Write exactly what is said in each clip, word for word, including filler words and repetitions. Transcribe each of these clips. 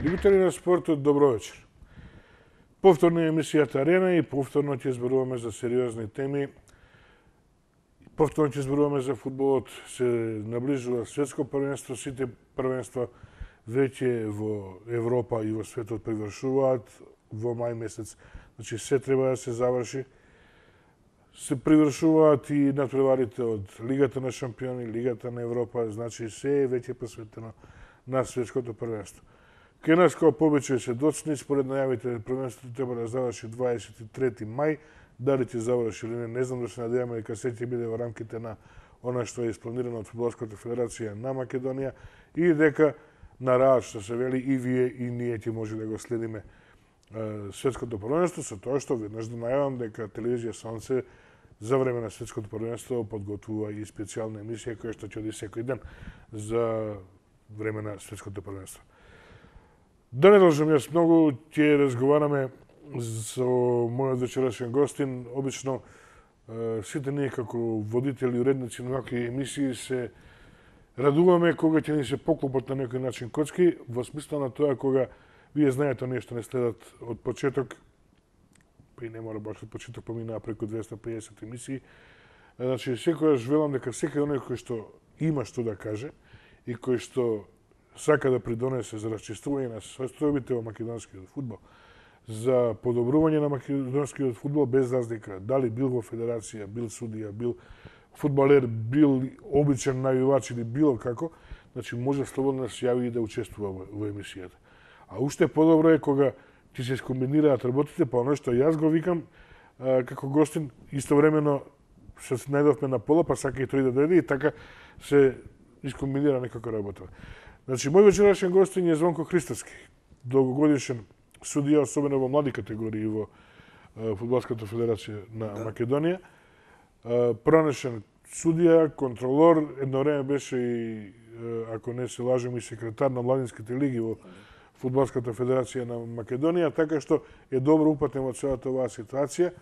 Љубители на спортот, добро вечер. Повторно е емисијата Арена и повторно ќе зборуваме за сериозни теми. Повторно ќе зборуваме за фудбалот. Се наближува светско првенство, сите првенства веќе во Европа и во светот привршуваат во мај месец. Значи се треба да се заврши. Се привршуваат и натпреварите од Лигата на шампиони, Лигата на Европа, значи се е веќе посветено на светското првенство. Кај нас, како повеќе се доцни, според најавите, првенството треба да заврши дваесет и трети мај. Дали ќе заврши или не, не знам, да се надеваме дека се ќе биде во рамките на она што е испланирано од Фудбалската федерација на Македонија и дека на раат, што се вели, и вие и ние ќе може да го следиме е, светското првенство, со тоа што веднаш да најавам дека телевизија Сонце за време на светското првенство подготвува и специјална емисија која што ќе оди секој ден за време на светското првенство. Да не должам јас многу, ќе разговараме со мојот вечерашен гостин. Обично сите ние како водители и уредници на вакви емисии се радуваме кога ќе ни се поклопат на некој начин коцки, во смисла на тоа кога вие знаете нешто не следат од почеток, па и не мора баш од почеток, поминаа преку двеста и педесет емисии. Значи, секојаш велам дека секој оној кој што има што да каже и кој што сака да придонесе за расчистување на состојбите во македонскиот фудбал, за подобрување на македонскиот фудбал без разлика дали бил во федерација, бил судија, бил фудбалер, бил обичен навивач или било како, значи може слободно да се јави и да учествува во, во емисијата. А уште подобро е кога ќе се скомбинираат работите, па оно што јас го викам а, како гостин, истовремено се најдовме на пола, па сака и тој да дојде и така се искомбинира некако работа. Значи, мој вечерашен гостин е Звонко Христоски, долгогодишен судија, особено во млади категории во е, Фудбалската федерација на да. Македонија. Е, пронешен судија, контролор, едно време беше и, е, ако не се лажем, и секретар на младинските лиги во Фудбалската федерација на Македонија, така што е добро упатен во целата оваа ситуација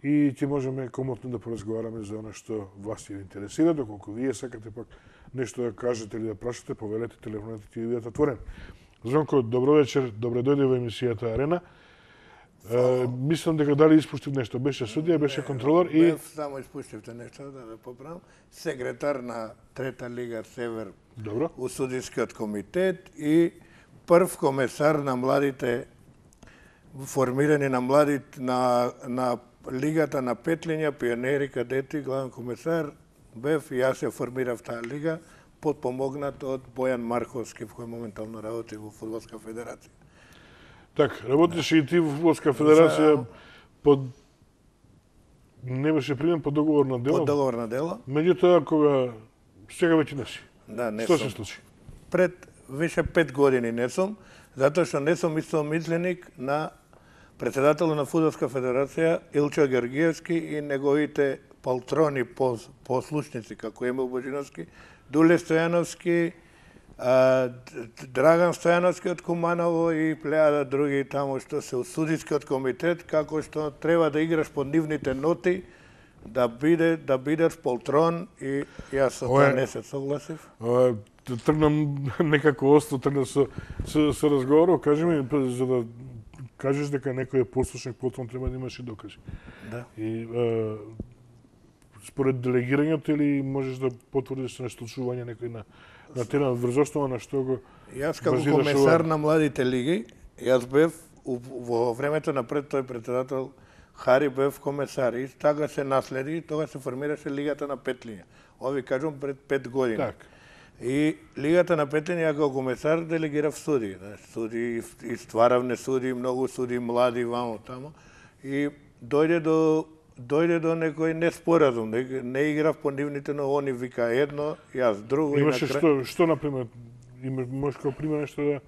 и ќе можеме комотно да поразговараме за она што вас ја интересира, доколку вие сакате пак нешто да кажете или да прашате, повелете, телефонете ќе ви бидат отворени. Звонко, добро вечер, добре дојде во емисијата Арена. Е, мислам дека дали испуштив нешто, беше судија, беше контролор и... Бев, само испуштивте нешто, да ве поправам. Секретар на Трета лига Север Добро. У судискиот комитет и прв комесар на младите, формирани на младите, на, на Лигата на Петлиња, пионери, кадети, главен комесар, бев и јас ја формирав таа лига, подпомогнат од Бојан Марковски, кој моментално работи во Фудбалска федерација. Так, работеше да. И ти во Фудбалска федерација да. Под... не беше примен по договор на дело? По договор на дело. Меѓутоа, кога сега веќе не си. Да, не Што сум. се случи? Пред више пет години не сум, затоа што не сум истомисленик на председателот на Фудбалска федерација Илчо Георгиевски и неговите полтрони послушници, како Емил Божиновски, Дуле Стојановски, Драган Стојановски од Куманово и плејада други таму што се у судискиот комитет, како што треба да играш по нивните ноти, да биде да бидеш полтрон и јас со тоа не се согласив. Тргнам некако остро, тргнам со, со, со разговорот, кажи ми, за да кажеш дека некој е послушник, полтрон треба да имаш и докажи. Да. И е, според делегирањето или можеш да потврдиш на случување некој на на терен врз основа на што го Јас како комесар на младите лиги, јас бев во времето на пред тој председател Хари бев комесар и така се наследи и тога се формираше Лигата на Петлиња. Ови кажам пред пет години. Так. И Лигата на Петлиња како комесар делегирав суди, да, суди и стваравне суди, многу суди млади вамо тамо и дојде до дојде до некој неспоразум, не, не играв по нивните, но они вика едно, јас друго. Имаше и на што, што например, има, можеш како пример нешто да,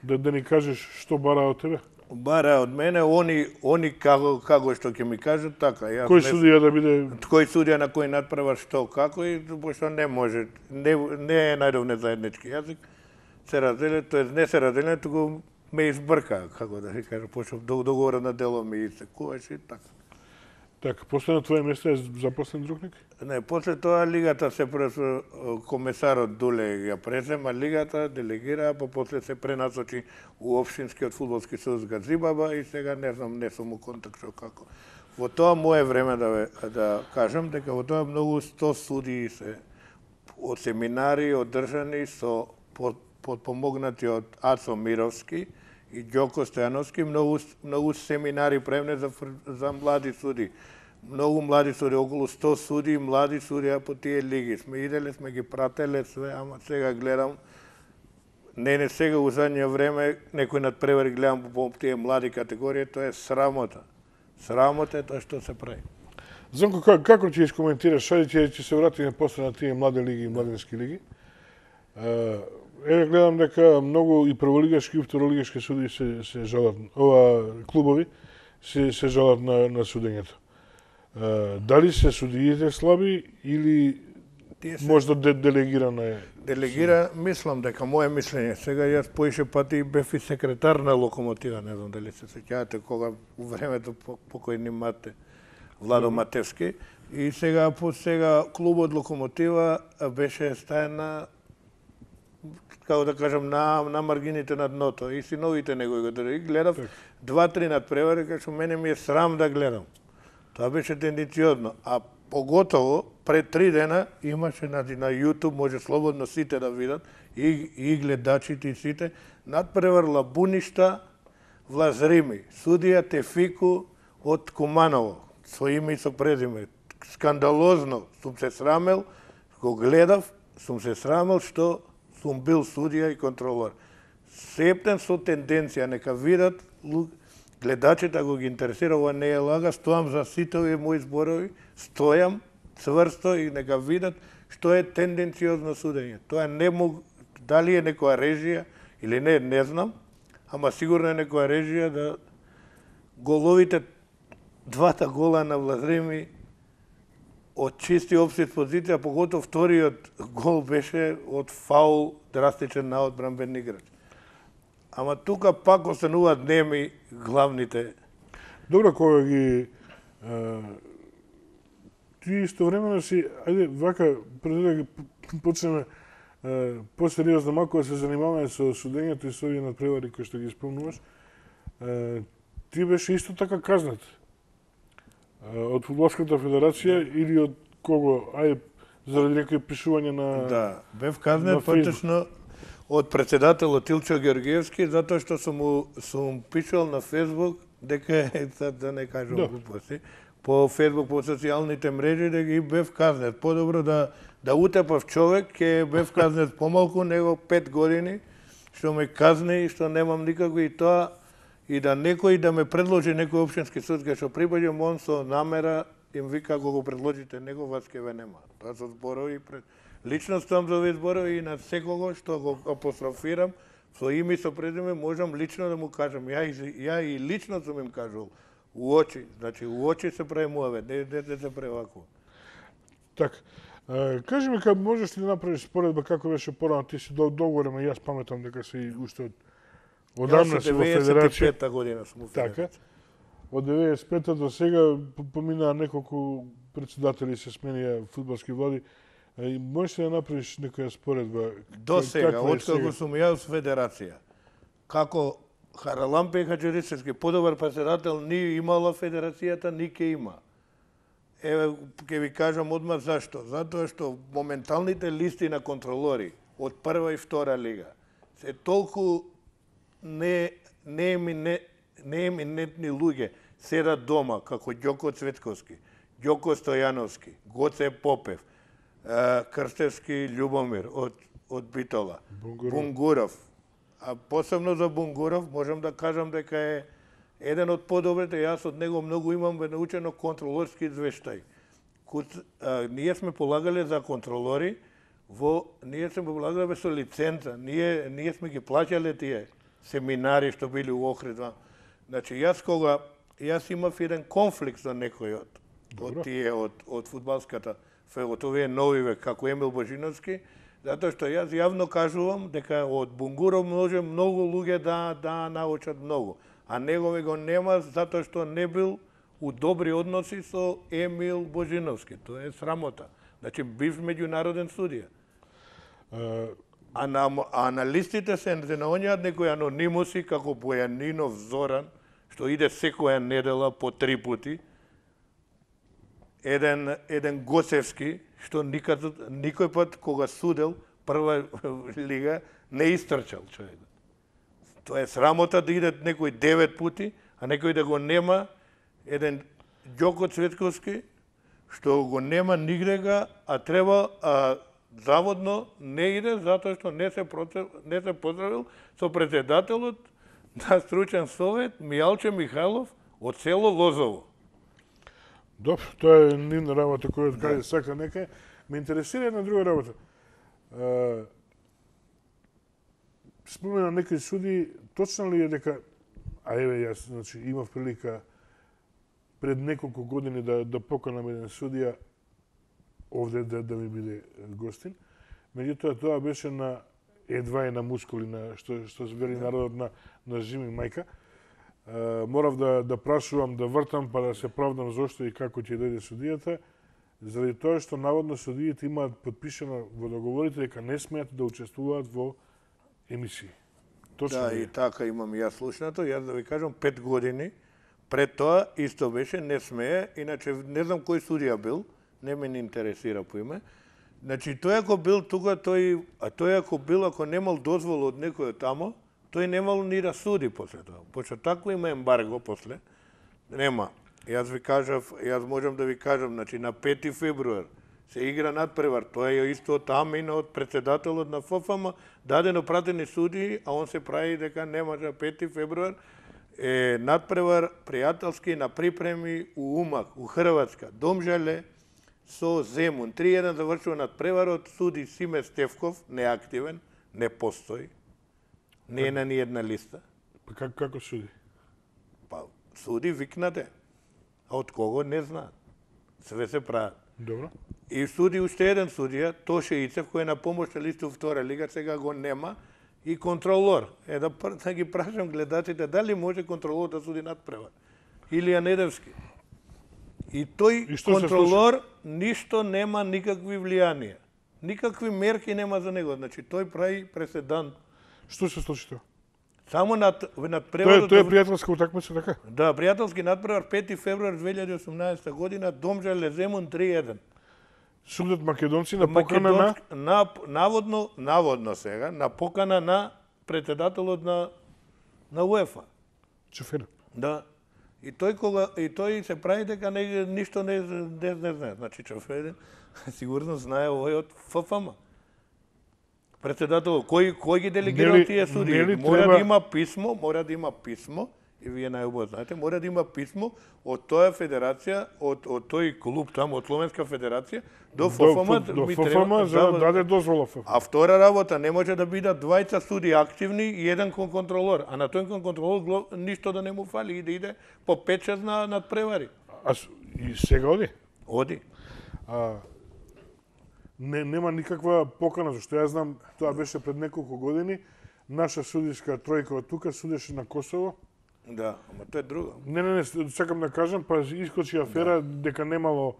да, да ни кажеш што бара од тебе? Бара од мене, они, они како, како што ќе ми кажат, така. Јас Кој не, судија да биде... Кој судија на кој надправа што, како и пошто не може, не, не е најдовне заеднички јазик, се разделе, тоест не се разделе, туку ме избрка, како да се каже, пошто договорот на дело ми истекуваше и така. Така, после на твое место е запослен друг некој? Не, после тоа лигата се пресо комесарот Дуле ја презема лигата, делегира, па после се пренасочи у општинскиот фудбалски сојуз Газибаба и сега не знам, не сум у контакт со како. Во тоа мое време да ве, да кажам дека во тоа многу сто судии се од семинари одржани со под, подпомогнати од Ацо Мировски и Ѓоко Стојановски, многу многу семинари правени за за млади суди. Многу млади суди, околу сто суди, млади судија по тие лиги. Сме иделе, сме ги прателе све, ама сега гледам, не не сега у задње време, некој надпревари гледам по тие млади категории, тоа е срамота. Срамота е тоа што се прави. Зонко, како, како ќе искоментираш, шајде ќе, ќе се вратиме после на тие млади лиги и младински лиги. Еве гледам дека многу и прволигашки и второлигашки суди се, се жалат, ова клубови се, се жалат на, на судењето. Дали се судиите слаби или се... можда де, делегирано е? Делегира, мислам дека моје мислење. Сега јас поише пати бев и секретар на Локомотива, не знам дали се сеќавате кога у времето покојни Мате, Владо Матевски. И сега по сега клубот Локомотива беше стајна, како да кажам, на, на маргините на дното. И синовите него го држи. Гледав два-три надпревари, кај што мене ми е срам да гледам. Тоа беше тенденциозно. А поготово, пред три дена имаше на, на YouTube, може слободно сите да видат, и, и гледачите и сите, надпревар Лабуништа Влазрими, судија Тефику од Куманово, со име и со презиме. Скандалозно сум се срамел, го гледав, сум се срамел што сум бил судија и контролор. Септен со тенденција, нека видат гледачите, ако ги интересира, ова не е лага, стојам за сите овие мои зборови, стојам цврсто и нека видат што е тенденциозно судење. Тоа не мог, дали е некоја режија или не, не знам, ама сигурно е некоја режија да головите, двата гола на Влазрими од чисти општит позиција, поготово вториот гол беше од фаул, драстичен на одбранбен играч. Ама тука пак остануваат неми главните. Добро, кога ги а, ти истовремено си, ајде вака пред да ги почнеме посериозно малку да се занимаваме со судењето и со овие надпревари кои што ги спомнуваш, а, ти беше исто така казнат а, од Фудбалската федерација или од кого? Ајде заради некои пишување на Да, бев казнет поточно од председателот Илчо Георгиевски, затоа што сум му сум пишал на Фейсбук дека сад да не кажам да. глупости, по Фейсбук, по социјалните мрежи дека ги бев казнет. Подобро да да утепав човек, ќе бев казнет помалку него пет години, што ме казни и што немам никако и тоа и да некој да ме предложи некој општински суд кај што прибаѓам, он со намера им вика ако го предложите него вас ќе ве нема. Тоа со зборови пред лично стоам за овие зборови и на секого што го апострофирам со име и со презиме можам лично да му кажам. Ја и, ја и лично сум им кажал у очи, значи у очи се прави муавет, не, не, не се прави вако. Така. Кажи ми, кога можеш ли да направиш споредба како беше порано, ти си долго време, јас паметам дека си уште од одамна си во федерација. деветдесет и пета година сум во федерација. Така. Од деветдесет и пета до сега поминаа неколку председатели се сменија фудбалски влади. И можеш ли да направиш некоја споредба? До сега, откако сум јас во федерација, како Харалампе Хаджирисевски, подобар председател ни имала федерацијата, ни ке има. Еве, ќе ви кажам одма зашто. Затоа што моменталните листи на контролори од прва и втора лига се толку не не не не еминентни луѓе седат дома, како Ѓоко Цветковски, Ѓоко Стојановски, Гоце Попев, Крстевски Љубомир од од Битола, Бунгуров. Бунгуров. А посебно за Бунгуров можам да кажам дека е еден од подобрите, јас од него многу имам научено контролорски извештај. Куд, а, ние сме полагале за контролори, во ние сме полагале со лиценца, ние ние сме ги плаќале тие семинари што били у Охрид. Значи јас кога јас имав еден конфликт со некој од од тие од од фудбалската од овие новиве како Емил Божиновски, затоа што јас јавно кажувам дека од Бунгуров може многу луѓе да да научат многу, а негови го нема затоа што не бил у добри односи со Емил Божиновски. Тоа е срамота. Значи, бив меѓународен судија. Uh, А на, а на листите се на оние некои анонимуси, како Бојанинов Зоран, што иде секоја недела по три пути, еден, еден Госевски, што никад, никој пат кога судел прва лига, не истрчал човек. Тоа е срамота да иде некој девет пути, а некој да го нема, еден Ѓоко Цветковски, што го нема нигдега, а треба, а заводно не иде, затоа што не се, процев, не се поздравил со председателот на стручен совет Мијалче Михайлов од село Лозово. Добро, тоа е нивна работа која од каде сака нека. Ме интересира една друга работа. Uh, спомена некои суди, точно ли е дека, а еве јас, значи, имав прилика пред неколку години да, да поканам еден судија овде да, да ми биде гостин. Меѓутоа, тоа беше на едва и на мускули, на, што, што вели народот на, на жими мајка. Uh, морав да, да прашувам, да вртам, па да се правдам зошто и како ќе дојде судијата, заради тоа што наводно судиите имаат подпишано во договорите дека не смеат да учествуваат во емисии. Точно Да, е. и така имам јас слушнато. Јас да ви кажам, пет години пред тоа исто беше, не смее, иначе не знам кој судија бил, не ме не интересира по име. Значи, тој ако бил тука, тој, а тој ако бил, ако немал дозвол од некој тамо, тој немал ни да суди после тоа. Пошто тако има ембарго после. Нема. Јас ви кажав, јас можам да ви кажам, значи на пети февруар се игра надпревар. Тоа е исто тамина од председателот на Ф Ф М, дадено пратени суди, а он се прави дека не може пети февруар е надпревар пријателски на припреми у Умак, у Хрватска. Домжале со Земун. три еден завршува надпреварот, суди Симе Стевков, неактивен, не постои. Не е на ни една листа. Па как, како суди? Па суди викнате. А од кого не знаат. Све се прават. Добро. И суди уште еден судија, Тоше Ицев, кој е на помошна листа у втора лига, сега го нема, и контролор. Е да, да ги прашам гледачите, дали може контролор да суди надпревар? Илија Недевски. И тој И што се контролор ништо нема никакви влијанија. Никакви мерки нема за него. Значи тој прави преседан. Што се случи тоа? Само над Тоа е, надпреварот. тоа е пријателска утакмица, така? Да, пријателски надпревар пети февруар две илјади и осумнаесета година, Домжале Земун три еден. Судат македонци на покана на... на наводно, наводно сега, на покана на председателот на на УЕФА. Чефера. Да. И тој кога и тој се прави дека не ништо не не, не знае. Значи Чефер сигурно знае овој од Ф Ф М. Председател, кој кој ги делегирал Нели- тие суди? нели Мора треба- да има писмо, мора да има писмо, и вие најубаво знаете, мора да има писмо од тоја федерација, од од тој клуб таму, од Словенска федерација до Ф Ф М. До ми Ф Ф треба- М за да даде дозвола Ф Ф М. А втора работа, не може да бидат двајца суди активни и еден кон контролор. А на тој кон контролор гло- ништо да не му фали и да иде по пет-шест на надпревари. А с- и сега оди? Оди. А, не, нема никаква покана, зашто јас знам, тоа беше пред неколку години, наша судиска тројка од тука судеше на Косово. Да, ама тоа е друго. Не, не, не, сакам да кажам, па искочи афера дека немало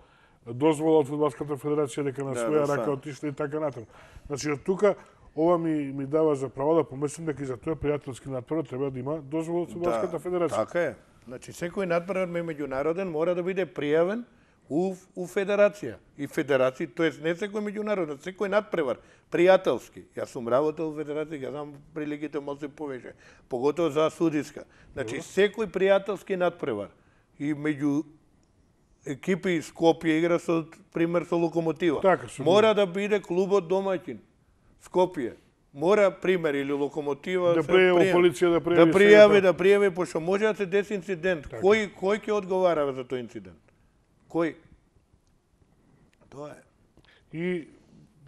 дозвола од Фудбалската федерација, дека на Да, своја да, рака са. отишли и така натаму. Значи, од тука, ова ми, ми дава за право да помислам дека и за тој пријателски надпревар треба да има дозвола од Фудбалската федерација. Така е. Значи секој надпревар меѓународен мора да биде пријавен у, у федерација. И федерација, тоест не секој меѓународен, секој надпревар, пријателски. Јас сум работел во федерација, ја знам приликите може се повеќе, поготово за судиска. Значи секој пријателски надпревар и меѓу екипи Скопје игра со пример со Локомотива. Така, со мора да биде клубот домаќин. Скопје. Мора пример или Локомотива Да се пријави пријави. полиција, да пријави Да сега пријави, тоа. да пријави, пошто може да се деси инцидент. Кој кој ќе одговара за тој инцидент? Кој? Тоа е. И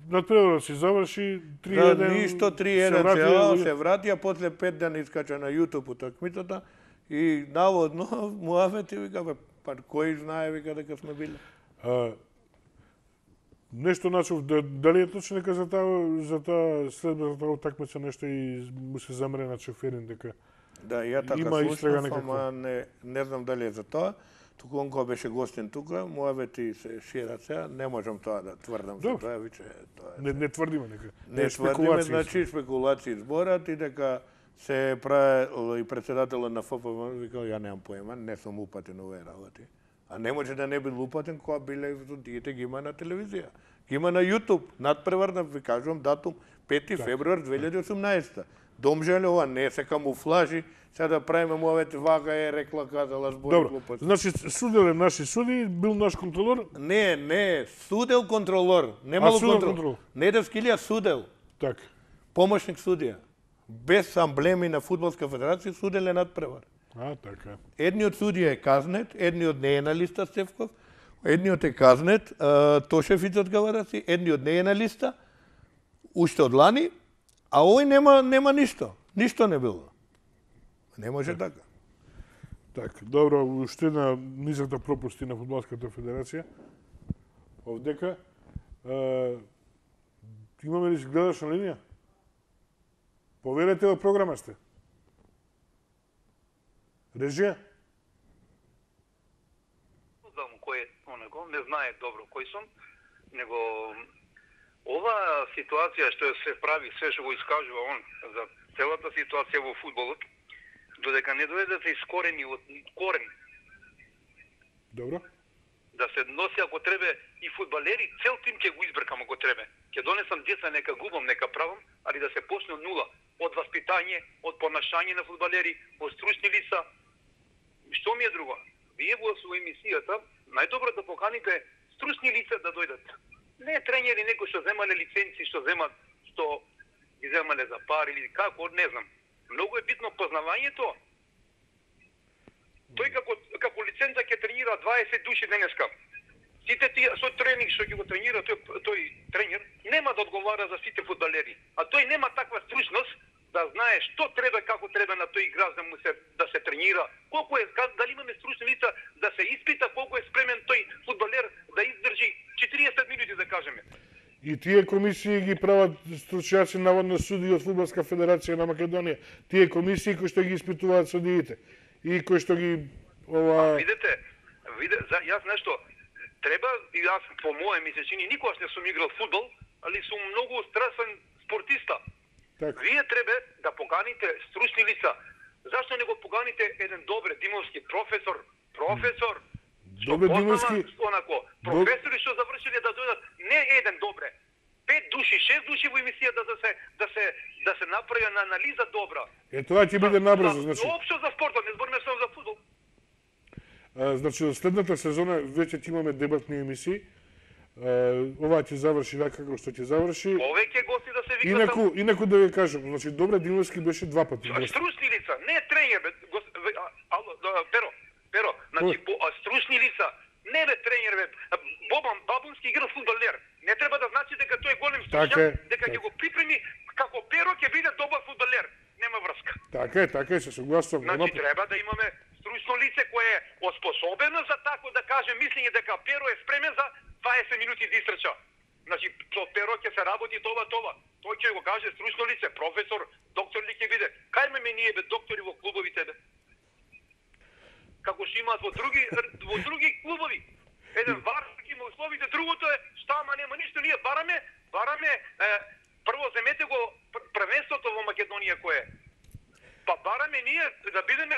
надпреварот се заврши три Да, еден. ништо три се еден вратија се, луѓе. се вратија, после пет дена искача на YouTube утакмицата и наводно муафети вика, бе, па кој знае вика дека сме биле. А, нешто начув, да, дали е точно дека за таа за таа следба за таа утакмица нешто и му се замре на Чеферин дека Да, ја така Има истрага слушнав, некаква. ама не, не знам дали е за тоа. туку он кога беше гостин тука, муавети се шират сега, не можам тоа да тврдам за тоа, виче тоа. Не, не тврдиме нека. Не тврдиме, значи спекулации зборат и дека се правил и председателот на Ф П В, викал, ја немам поема, не сум упатен овие работи. А не може да не бил упатен кога биле судиите ги има на телевизија. Ги има на YouTube, надпреварна, ви кажувам датум, пети февруар две илјади и осумнаесета. Домжале, ова не се камуфлажи, сега да правиме муавете вака е рекла, казала, збори Добро, глупости. значи судел е наши суди, бил наш контролор. Не, не, судел контролор, немало судел контрол. контрол. Недевски судел, Така. помошник судија. Без амблеми на Фудбалска федерација, судел е надпревар. А, така. Едниот судија е казнет, едниот не е на листа Стефков, едниот е казнет, Тошев од Гавараси, едниот не е на листа, уште од лани, а овој нема нема ништо. Ништо не било. Не може така. Така, добро, уште една низакта пропусти на Фудбалската федерација. Овдека е, имаме ли гледаш на линија? Поверете во програма сте. Режија? Знам кој е онако, не знае добро кој сум, него ова ситуација што се прави, се што го искажува он за целата ситуација во фудбалот, додека не дојде да се искорени од корен, Добро. да се носи ако требе и фудбалери, цел тим ќе го избркам ако требе. Ќе донесам деца, нека губам, нека правам, али да се почне од нула, од васпитање, од понашање на фудбалери, од стручни лица. Што ми е друго? Вие во своја емисијата најдобро да поканите стручни лица да дојдат. Не тренери некои што земале лиценци, што земат, што ги земале за пари или како, не знам. Многу е битно познавањето. Тој како како лиценца ќе тренира дваесет души денеска. Сите тие со тренинг што ќе го тренира тој тој тренер нема да одговара за сите фудбалери. А тој нема таква стручност да знае што треба, како треба на тој играч да му се да се тренира. Колку е дали имаме стручни лица да се испита колку е спремен тој фудбалер да издржи четириесет минути да кажеме. И тие комисии ги прават стручњаци наводно суди од Фудбалска федерација на Македонија. Тие комисии кои што ги испитуваат судиите и кои што ги ова... А, видете, виде, за, јас нешто, треба, и јас по моје ми се чини, никогаш не сум играл фудбал, али сум многу страстен спортиста. Так. Вие треба да поканите стручни лица. Зашто не го поканите еден добре димовски професор, професор, Добре димовски, онако, професори што завршиле да дојдат, не еден добре, пет души, шест души во емисијата да се да се да се направи на анализа добра. Е тоа ќе биде набрзо, значи. Општо за спортот, не збориме само за фудбал. А, значи, од следната сезона веќе ќе имаме дебатни емисии. А, ова ќе заврши така како што ќе заврши. Повеќе гости да се вика. Инаку, инаку да ви кажам, значи Добре Димовски беше два пати гост. Стручни лица, не тренер, бе, гос, бе, а, ало, да, Перо, Перо, значи по а, стручни лица, не бе тренер, бе, Бобан Бабунски игра фудбалер. Не треба да значи дека тој е голем стручњак, дека ќе го припреми како Перо ќе биде добар фудбалер. Нема врска. Така е, така е, се согласувам. Значи треба да имаме стручно лице кое е оспособено за тако да каже мислење дека Перо е спремен за дваесет минути да истрча. Значи со Перо ќе се работи това това. Тој ќе го каже стручно лице, професор, доктор ли ќе биде. Кај ме ние бе доктори во клубовите бе? Како што имаат во други во други клубови. Еден вар ќе има условите, другото е шта ама нема ништо, ние бараме, бараме е, прво земете го првенството во Македонија кое е. Па бараме ние да бидеме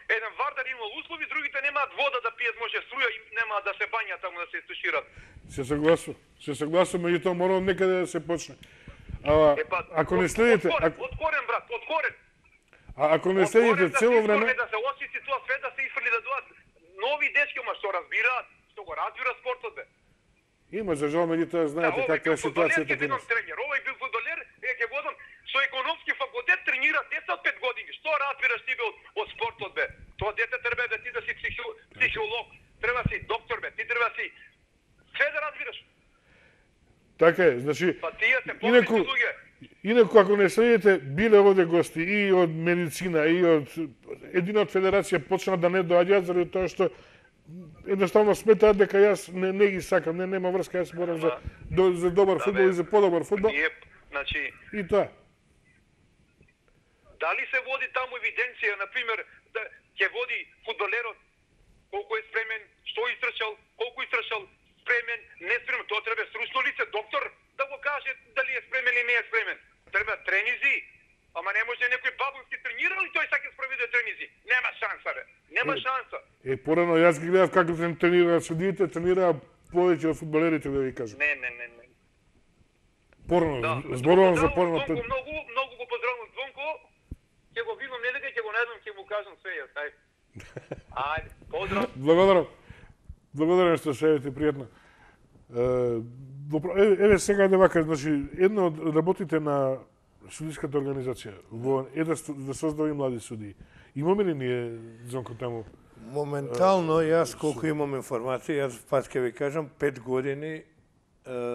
еден вар да има услови, другите немаат вода да пијат, може струја и немаат да се бањат таму да се истушират. Се согласувам. Се согласувам, меѓутоа мора од некаде да се почне. А, Е, па, ако не од- следите, од корен, ако, од корен брат, од корен. а, ако не Од следите корен да цело се време, искорне, да се освести тоа све, да се изфрли да дојдат нови дечки, ма што разбираат, што го разбира спортот бе. има за жал меѓутоа знаете овој каква бил е фудбалер, ситуацијата ќе кај бидам нас. тренер. Овој бил фудбалер, е ќе водам со економски факултет тренира деца од пет години. Што разбираш ти бе од, од спортот бе? Тоа дете треба да ти да си психо, психолог, треба си доктор бе, ти треба си све да разбираш. Така е, значи Па тие се Инаку- попити луѓе. Инаку, ако не следите, биле овде гости и од медицина, и од едина од федерација почна да не доаѓаат заради тоа што едноставно сметаат дека јас не, не ги сакам, не нема врска, јас борам за, до, за добар фудбал бе, и за подобар фудбал. Ние, значи, И тоа. дали се води таму евиденција, на пример, да ќе води фудбалерот колку е спремен, што изтрчал, колку изтрчал, спремен, не спремен, тоа треба стручно лице, доктор да го каже дали е спремен или не е спремен. Треба тренизи, ама не може некој бабунски тренирал и тој сака спроведе тренизи. Нема шанса, бе. Нема Е, шанса. Е, порано, јас ги гледав како се тренираат судиите, тренираа повеќе од фудбалерите, да ви кажам. Не, не, не, не. Порано, Да. зборувам за Поздравувам порано. Звонко, многу, многу го поздравувам Звонко. Ќе го видам недека, ќе го најдам, ќе му кажам све јас, ајде. Ајде, поздрав. Благодарам. Благодарам што се јавите, пријатно. Е, допро- еве, еве сега да вака, значи, едно од работите на судиската организација, во е да, сту- да создави млади судии. Имаме ли ние, Зонко, таму? Моментално, јас колку имам информација, јас пак ќе ви кажам, пет години е,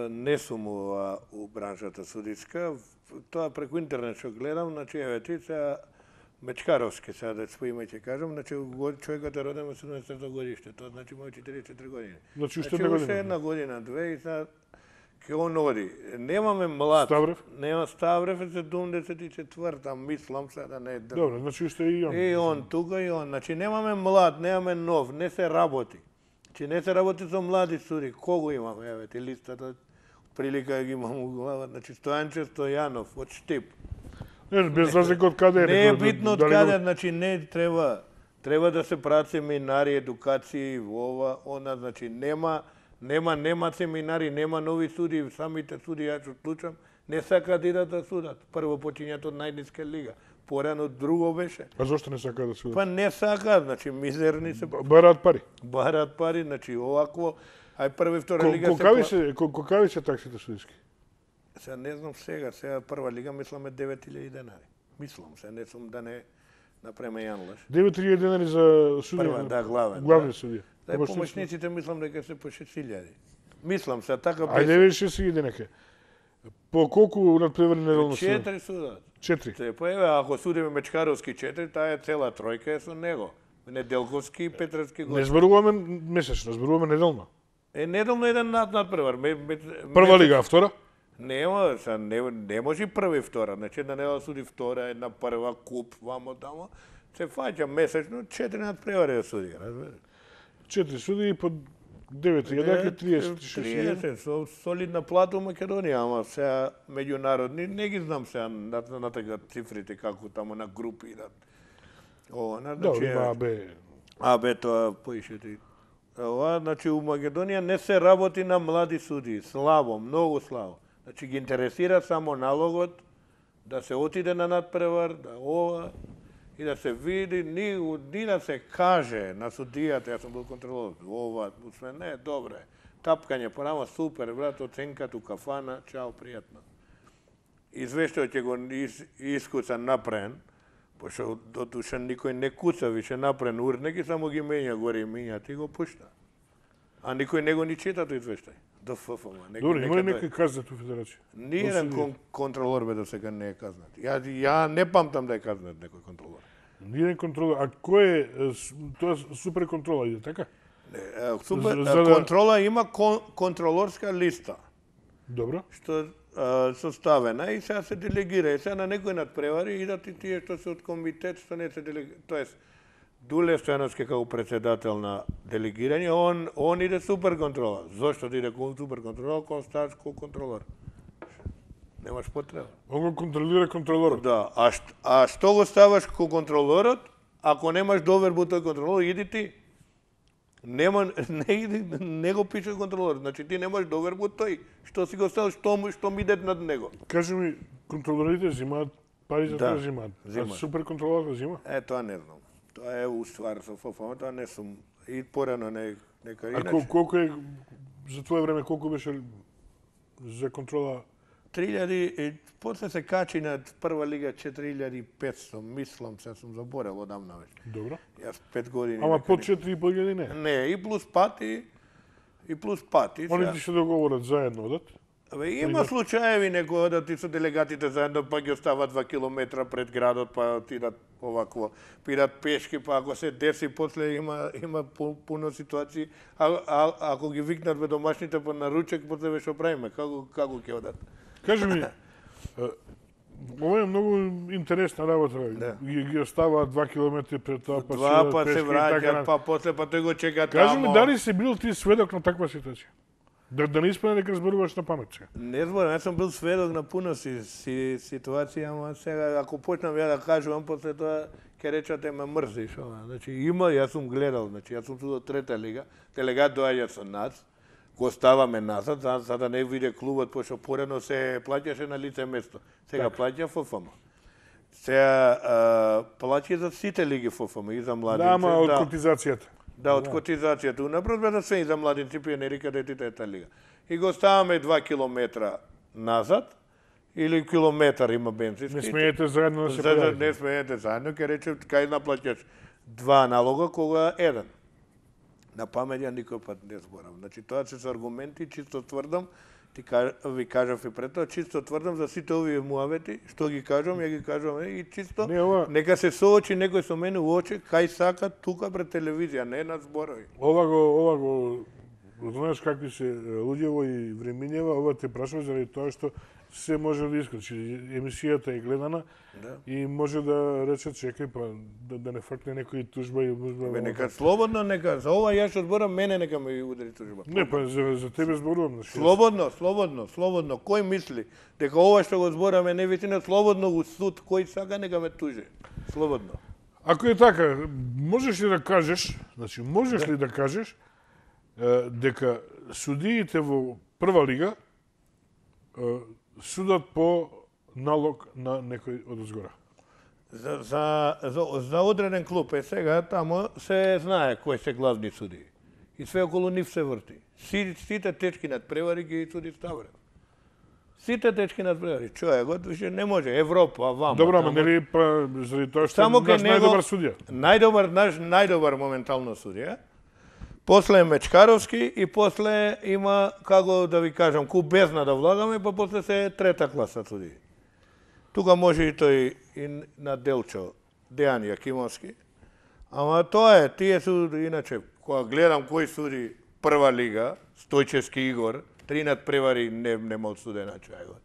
не сум ова у браншата судиска. Тоа преку интернет што гледам, значи, еве ти се Мечкаровски, сега да споиме ќе кажам, значи год- човекот е роден во седумдесетто годиште, тоа значи има четириесет и четири години. Значи, уште Значи, една уште година. една година, две и сега ќе он оди. Немаме млад. Ставрев? Нема Ставрев е седумдесет и четврта, мислам се да не е држав. Добро, значи уште и он. И он тука и он. Значи немаме млад, немаме нов, не се работи. Значи не се работи со млади суди. Кого имаме? Еве ти листата прилика ги имам у глава. Значи Стојанче Стојанов од Штип. Не, без разлика од каде Не е некој, битно од дали го- каде, значи не треба треба да се прават семинари, едукации, ова, она, значи нема нема нема семинари, нема нови суди, самите суди ја што случам, не сакаат да идат да судат. Прво почињат од најниска лига, порано друго беше. А зошто не сака да се Па не сакаат, значи мизерни се бараат пари? бараат пари, значи овакво, ај прва и втора Ко- лига Колкави се се, ко- колкави се таксите судиски? Се не знам сега, сега прва лига мислам е девет илјади денари. Мислам се, не сум да не направиме јан лаш. девет илјади денари за судија. Прва, да, главен, Главни да. судија. Да, Помошници. помошниците мислам дека се по шест илјади. Мислам се, така Ајде беше. виж шест илјади нека. По колку надпревари неделно судат? Четири судат. Четири. Се, па еве, ако судиме Мечкаровски четири, таа е цела тројка е со него. Неделковски и Петровски Не гол. зборуваме месечно, зборуваме неделно. Е, неделно еден над надпревар. Ме, ме, Прва лига, а втора? Нема, са, не, не може прва и втора. Значи една недела суди втора, една прва, куп, вамо тамо. Се фаќа месечно, четири надпревари да суди, разбери. Четири судии по девет илјади, триесет и шест илјади. триесет, со солидна плата у Македонија, ама сега меѓународни, не ги знам сега на, на така цифрите како тамо на групи идат. Ова, на, Добро, значи, има бе. а бе тоа поишете. Ова, значи у Македонија не се работи на млади судии, слабо, многу слабо. Значи ги интересира само налогот да се отиде на надпревар, да ова и да се види, ни, ни да се каже на судијата, јас сум бил контролор, ова, усве не, добре. Тапкање порама, супер, брат, оценката у кафана, чао, пријатно. Извештајот ќе го ис, искуца напрен, пошто до душа никој не куца више напрен урнеки, само ги менја горе и менјат и го пушта. А никој не го ни чита тој извештај. До ФФМ. Добро, има ли некој казна ту федерација? Ниједен кон, контролор бе до сега не е казнат. Ја, ја не памтам да е казнат некој контролор. Ниједен контролор. А кој е, е, с- тоа е супер контрола иде, така? Не, е, супер, За- за да- контрола има кон, контролорска листа, Добро. што а, составена и сега се делегира. И сега на некој надпревари идат и тие што се од комитет, што не се делегира. Тоест, Дуле Стојановски како председател на делегирање, он, он иде супер контрола. Зошто да иде кон супер контрола, кон ставаш ко контролор? Немаш потреба. Он го контролира контролорот. Да, а, шт, а што го ставаш ко контролорот, ако немаш доверба тој контролор, иди ти. Нема, не, иди, не го пише контролор, значи ти немаш доверба тој. Што си го ставаш, што, му- што ми идет над него? Кажи ми, контролорите взимаат пари за Да, тоа взимаат. А взимаат. супер контролорот взима? Е, тоа не знам. Тоа е уствар со ФФМ, тоа не сум. И порано не, нека А иначе. кол- колку е, за твое време, колку беше за контрола? три илјади, и после се качи на прва лига четири илјади и петсто, мислам, се сум заборел одамна веќе. Добро. Јас пет години. Ама некаде- под четири и пол илјади не. Не, и плюс пати, и плюс пати. Они сега- ти се договорат заедно одат. Абе, има случаеви некои одат и со делегатите заедно, па ги остават два километра пред градот, па отидат овакво, пидат пешки, па ако се деси, после има има пу- пуно ситуации, а, а ако ги викнат бе домашните по наручек, после ве што правиме, како како ќе одат? Кажи ми, е, Ова е многу интересна работа. Да. Ги, ги оставаат два километри пред тоа, па Два седат па пешки се и така враќаат, на- па после па тој го чека Кажи тамо. ми, дали си бил ти сведок на таква ситуација? Да, да не испадне дека зборуваш на памет сега. Не зборам, јас сум бил сведок на пуно си, си ситуација, ама сега ако почнам ја да кажувам, после тоа ќе речате ме мрзиш, ова. Значи има, јас сум гледал, значи јас сум судо трета лига, делегат доаѓа со нас, го ставаме назад, за, за да не види клубот, пошто порано се плаќаше на лице место. Сега плаќа ФФМ. Сега а, плаќа за сите лиги ФФМ, и за младите. Да, ама од котизацијата. Да, од котизацијата. Унапред бе да се и за младинци пионерика детите ета лига. И го ставаме два километра назад, или километар има бензински. Не смеете заедно да се За да појавите. не смеете заедно, ќе речем кај наплаќаш два налога, кога еден. На памет ја никој пат не зборам. Значи тоа се со аргументи, чисто тврдам, ти кажа, ви кажав и пред тоа, чисто тврдам за сите овие муавети, што ги кажам, ја ги кажам и чисто Не, ова- нека се соочи некој со мене у очи кај сака тука пред телевизија, не на зборови. Ова го, ова го, знаеш какви се луѓево и времињева, ова те прашува заради тоа што се може да искачи. Емисијата е гледана Да. и може да рече чекај па да, да не фркне некој тужба и музба. Бе, нека слободно, нека за ова ја што зборам, мене нека ме удари тужба. Не, па за, за тебе зборувам. Значи, Слободно, слободно, слободно. Кој мисли дека ова што го збораме не вистина, слободно у суд, кој сака нека ме тужи. Слободно. Ако е така, можеш ли да кажеш, значи можеш ли да кажеш е, дека судиите во прва лига е, судат по налог на некој од озгора? За, за, за, за одреден клуб е сега, тамо се знае кои се главни судии. И све околу нив се врти. Си, сите течки над превари ги суди Ставрен. Сите течки над превари. Човекот више не може. Европа, вама. Добро, ама тамо. нели па заради тоа што Само е кај наш него- најдобар судија. Најдобар, наш најдобар моментално судија. После е Мечкаровски и после има, како да ви кажам, ку бездна да влагаме, па после се трета класа судии. Тука може и тој и на Делчо, Дејан Јакимовски. Ама тоа е, тие суди, иначе, кога гледам кој суди прва лига, Стојчевски Игор, три надпревари не, нема одсудена човекот.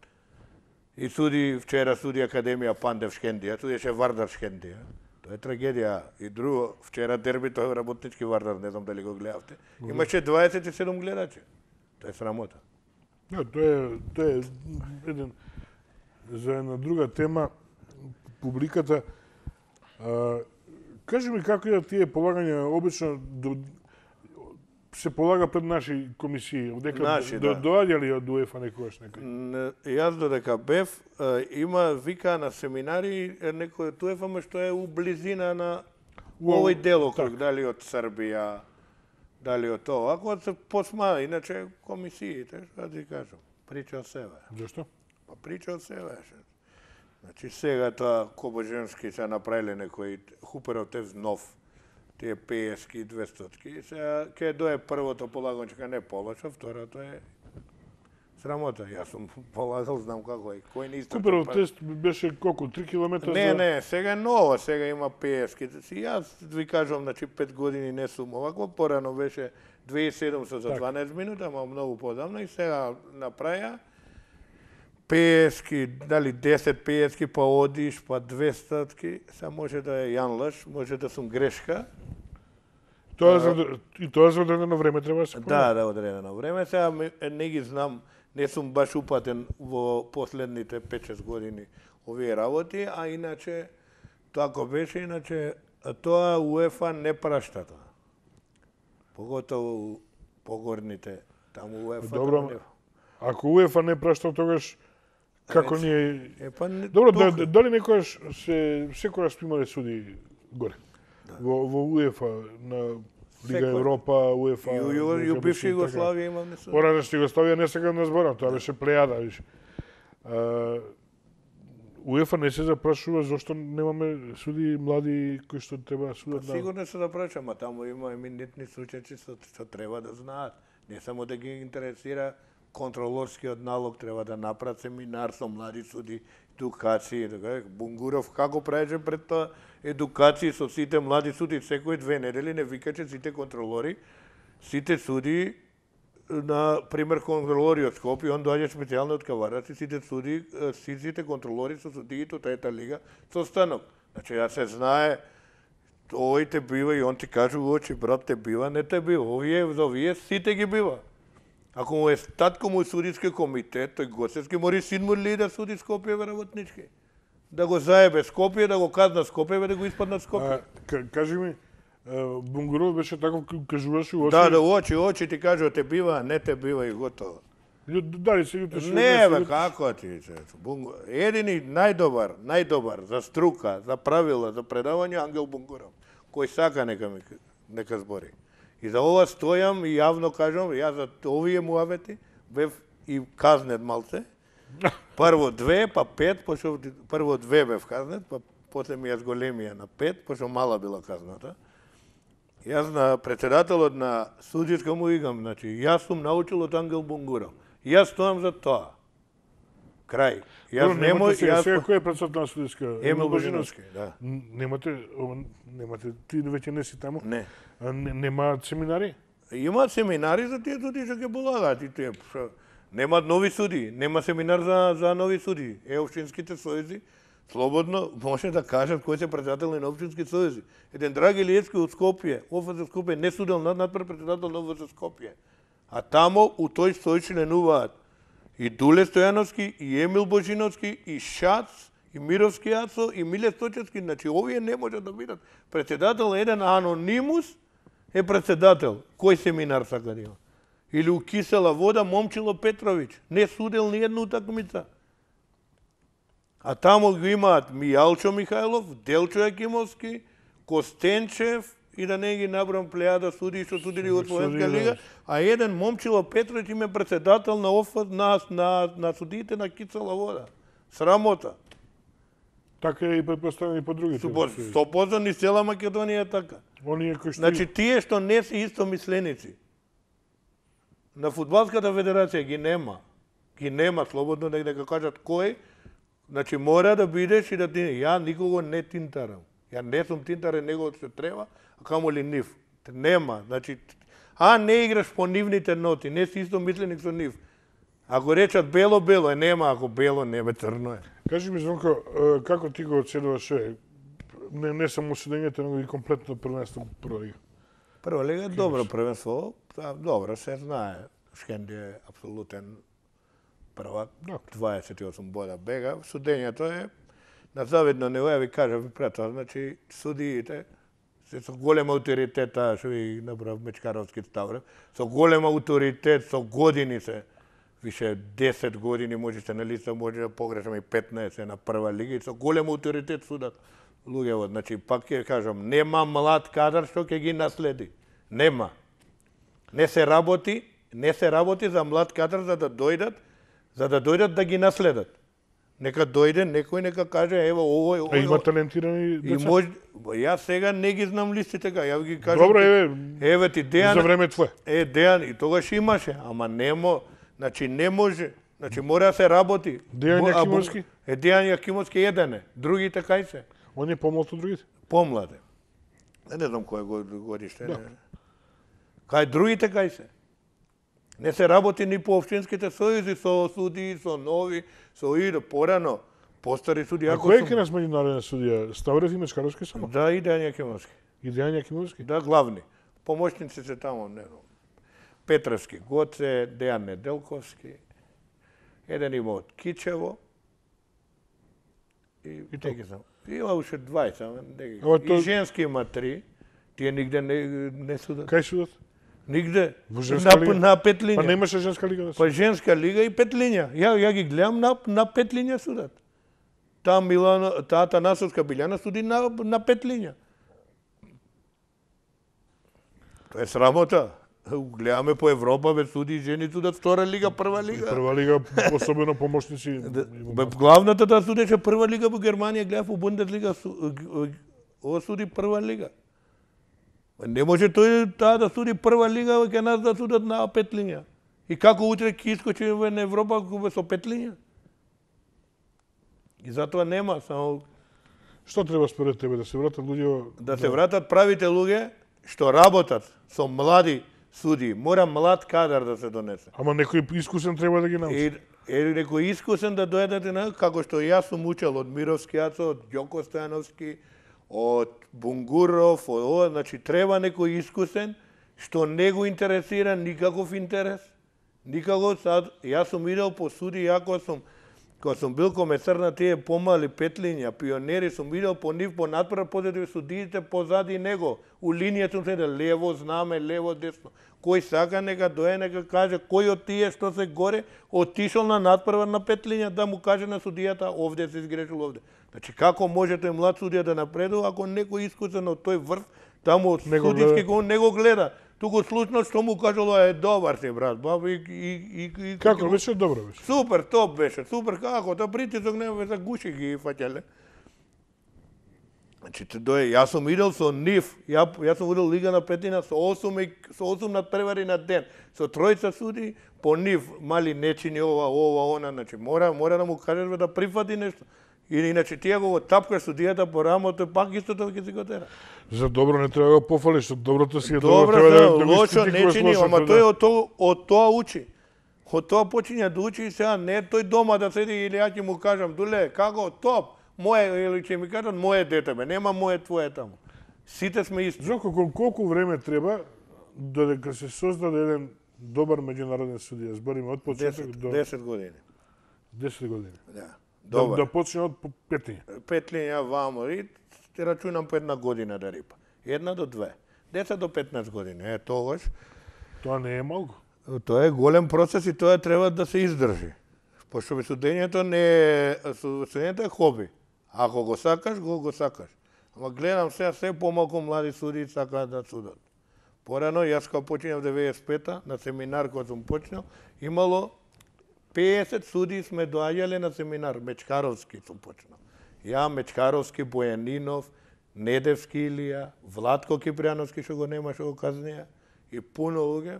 И суди, вчера суди Академија Пандев Шкендија, судеше Вардар Шкендија. Тоа е трагедија. И друго, вчера дербито работнички Вардар, не знам дали го гледавте. Имаше дваесет и седум гледачи. Тоа е срамота. Да, тоа е тоа е еден за една друга тема публиката. А, кажи ми како е тие полагања обично до, се полага пред наши комисии, дека Наши, до, да. доаѓа ли од УЕФА некогаш некој? Н- Јас додека бев, е, има вика на семинари е, некој од УЕФА, ма што е у близина на Во- овој делокруг, дали од Србија, дали од тоа. Ако се посма, иначе комисиите, што да ти кажам, прича од себе. Зашто? Па прича од себе. ше. Значи сега тоа Кобоженски се направиле некој Хуперов тез нов, тие петдесетки и двестотки. Сега ќе дое првото полагање, дека не полоша, второто е срамота. Јас сум полагал, знам како е. Кој не истрча. Куперов па- тест беше колку три километра Не, за не, сега е ново, сега има петдесетки. Си јас ви кажувам, значи пет години не сум овако, порано беше две тисјачи и седумстотини за дванаесет минути, ама многу подамна и сега направија петдесетки, дали десет петдесетки, па одиш, па двестотки, сега може да е Јан лъж, може да сум грешка. Тоа за и тоа за одредено време треба да се Да, да, одредено време. Сега ме- не ги знам, не сум баш упатен во последните пет-шест години овие работи, а иначе така беше, иначе тоа УЕФА не прашта тоа. Поготово погорните таму УЕФА. Добро, таму не- Ако УЕФА не прашта тогаш како Речи. ние Е, па не, Добро, да, тока. дали некојаш се секогаш сме имале суди горе? Во, во УЕФА, на Лига Секој. Европа, УЕФА... И, и, и, и у бивша Југославија имам не сум. Поранешна Југославија не сакам да зборам, тоа беше плејада, виш. А, УЕФА не се запрашува зошто немаме суди млади кои што треба да судат на... Сигурно се запрашам, а таму има еминентни случаи што, што треба да знаат. Не само да ги интересира контролорскиот налог, треба да направат семинар со млади суди, едукации, така, Бунгуров како правеше пред тоа едукации со сите млади суди, секој две недели не викаче сите контролори, сите суди на пример контролори од Скопје, он доаѓа специјално од Кавараци, сите суди, сите контролори со судиите од трета лига со станок. Значи, ја се знае, овој те бива и он ти каже во очи, брат те бива, не те бива, овие, за овие сите ги бива. Ако му е татко му судиски комитет, тој Гоцевски мори син му ли да суди Скопје работнички. Да го заебе Скопје, да го казна Скопје, да го испаднат Скопје. Кажи ми, Бунгуров беше таков, кажуваше очи. Да, да, очи, очи ти кажува те бива, не те бива и готово. Дали се јутеше? Не, бе, како ти се? Едини најдобар, најдобар за струка, за правила, за предавање Ангел Бунгуров, кој сака нека ми, нека збори. И за ова стојам и јавно кажам, ја за овие муавети бев и казнет малце. Прво две, па пет, пошо прво две бев казнет, па после ми ја зголемија на пет, пошо мала била казната. Јас на председателот на судиска му игам, значи, јас сум научил од Ангел Бунгуров. Јас стоам за тоа. Крај. Јас немој, јас сега кој е председател на судиска? Емил Божиновски, да. Немате, немате, ти веќе не си таму? Не. Немаат семинари? Имаат семинари за тие суди што ќе полагаат и тие. Немаат нови суди, нема семинар за за нови суди. Е општинските сојузи слободно може да кажат кој се председател на општински сојузи. Еден Драги Илиевски од Скопје, ОФЗ Скопје не судел над надпред председател на ОФЗ Скопје. А тамо у тој сој членуваат и Дуле Стојановски, и Емил Божиновски, и Шац, и Мировски Ацо, и Миле Сточевски. Значи, овие не можат да бидат. Председател еден анонимус е председател. Кој семинар сака да има? Или у Кисела вода Момчило Петрович. Не судел ни една утакмица. А тамо го имаат Мијалчо Михајлов, Делчо Јакимовски, Костенчев, и да не ги набрам плејада суди што судили од Словенска лига, а еден Момчило Петрович им е председател на ОФ на на на судиите на Кисела вода. Срамота. Така е и претпоставени по другите. сто проценти ни цела Македонија е така. Оние кои што Значи тие што не се истомисленици на фудбалската федерација ги нема. Ги нема слободно да дека кажат кој. Значи мора да бидеш и да ти ја никого не тинтарам. Ја не сум тинтарен него што треба, а камо ли нив. Нема, значи а не играш по нивните ноти, не си исто мисленик со нив. Ако речат бело бело е, нема, ако бело нема црно е. Кажи ми, Звонко, како ти го оценуваш не не само седењето, него и комплетно првенство прва лига? Прва лига е добро првенство, добро се знае. Шкенди е апсолутен првак, дваесет и осум бода бега. Судењето е на завидно ниво, ја ви кажам пред тоа, значи судиите се со голем авторитет, таа што ви направив Мечкаровски Ставрев, со голем авторитет, со години се, више десет години можете на листа, може да погрешам и петнаесет на прва лига, и со голем авторитет судат луѓево. Значи, пак ќе кажам, нема млад кадар што ќе ги наследи. Нема. Не се работи, не се работи за млад кадар за да дојдат, за да дојдат да ги наследат. Нека дојде некој, нека каже, ево, овој, овој... А има талентирани деца? И мож... Јас сега не ги знам листите, така, ја ги кажам... Добро, еве, еве ти Дејан... за време твое. Е, Дејан, и тогаш имаше, ама немо... Значи, не може, значи, мора да се работи. Дејан Јакимовски? Е, Дејан Јакимовски еден е, другите кај се? Он е помлад од другите? Помлад е. Не знам кој годиште. Да. Кај другите кај се? Не се работи ни по општинските сојузи, со суди, со нови, со иде порано, постари суди. А кој е ке нас меѓународен судија? Ставрев и Мечкаровски само? Да, и Дејан Јакимовски. И Дејан Јакимовски? Да, главни. Помошници се тамо, не знам. Петровски Гоце, Дејан Неделковски, еден има од Кичево, и, и не ги знам. Има уште дваесет, не ги знам. И женски има три, тие нигде не, не судат. Кај судат? Нигде. Во женска на, лига? на пет линија. Па немаше женска лига да се? Па женска лига и пет линија. Ја, ја ги гледам на, на пет линија судат. Таа Милана, таа Танасовска Билјана суди на, на пет линија. Тоа е срамота. Гледаме по Европа, бе суди жени судат втора лига, прва лига. Прва лига, особено помошници. Бе, главната да судеше прва лига во Германија, гледав во Бундеслига, ова суди прва лига. Не може тој таа да суди прва лига, ке нас да судат на пет линија. И како утре ќе искочи во Европа со пет линија? И затоа нема, само... Што треба според тебе, да се вратат луѓе... Да се вратат правите луѓе што работат со млади суди, мора млад кадар да се донесе. Ама некој искусен треба да ги научи. Е, е некој искусен да дојдете на, како што јас сум учел од Мировски Ацо, од Ѓоко Стојановски, од Бунгуров, од ова, значи треба некој искусен што не го интересира никаков интерес. Никако сад, јас сум идел по суди, јако сум, кога сум бил комесар на тие помали петлиња, пионери, сум идел по нив, по надпред, позади судиите позади него. У линијата сум седел, лево знаме, лево десно. Кој сака нека дое, нека каже, кој од тие што се горе, отишол на надпрва на петлиња да му каже на судијата, овде се изгрешил овде. Значи, како можете млад судија да напредува, ако некој искусен од тој врв, таму од судиски го не го гледа. Туку случно што му кажало е добар си брат, баба и и и, и Како беше добро беше? Супер, топ беше, супер како, тоа притисок нема за гуши ги фаќале. Значи те дое, јас сум идел со нив, ја јас сум видел лига на петина со осум со осум надпревари на ден, со тројца суди по нив, мали не чини ова, ова, она, значи мора мора да му кажеш да прифати нешто. Или иначе тие го тапкаш судијата по рамото, пак истото ќе си го тера. За добро не треба да го пофалиш, што доброто си е добро, Добро, треба да, да, да го лошо не искритикуваш чини, лошото, ама да. тој од тоа, од тоа учи. Од тоа почиња да учи и сега не тој дома да седи или ја ќе му кажам, дуле, како, топ, моје, или ќе ми кажат, моје дете, бе, нема моје твое таму. Сите сме исти. Жоко, кол- колку време треба додека се создаде еден добар меѓународен судија? Збориме од почеток десет, до десет години. десет години. Да. Да, Добар. да почне од петиња. Петлиња вамо и те рачунам по една година да рипа. Една до две. десет до петнаесет години. Е, тогаш Тоа не е малку. тоа е голем процес и тоа треба да се издржи. Пошто судењето не е, судењето е хоби. Ако го сакаш, го го сакаш. Ама гледам сега се помалку млади суди сакаат да судат. Порано, јас кога починав деветдесет и пета на семинар кога сум почнал, имало пеесет суди сме доаѓале на семинар, Мечкаровски сум почнал. Ја, Мечкаровски, Бојанинов, Недевски Илија, Владко Кипријановски што го немаше го казнија и пуно луѓе.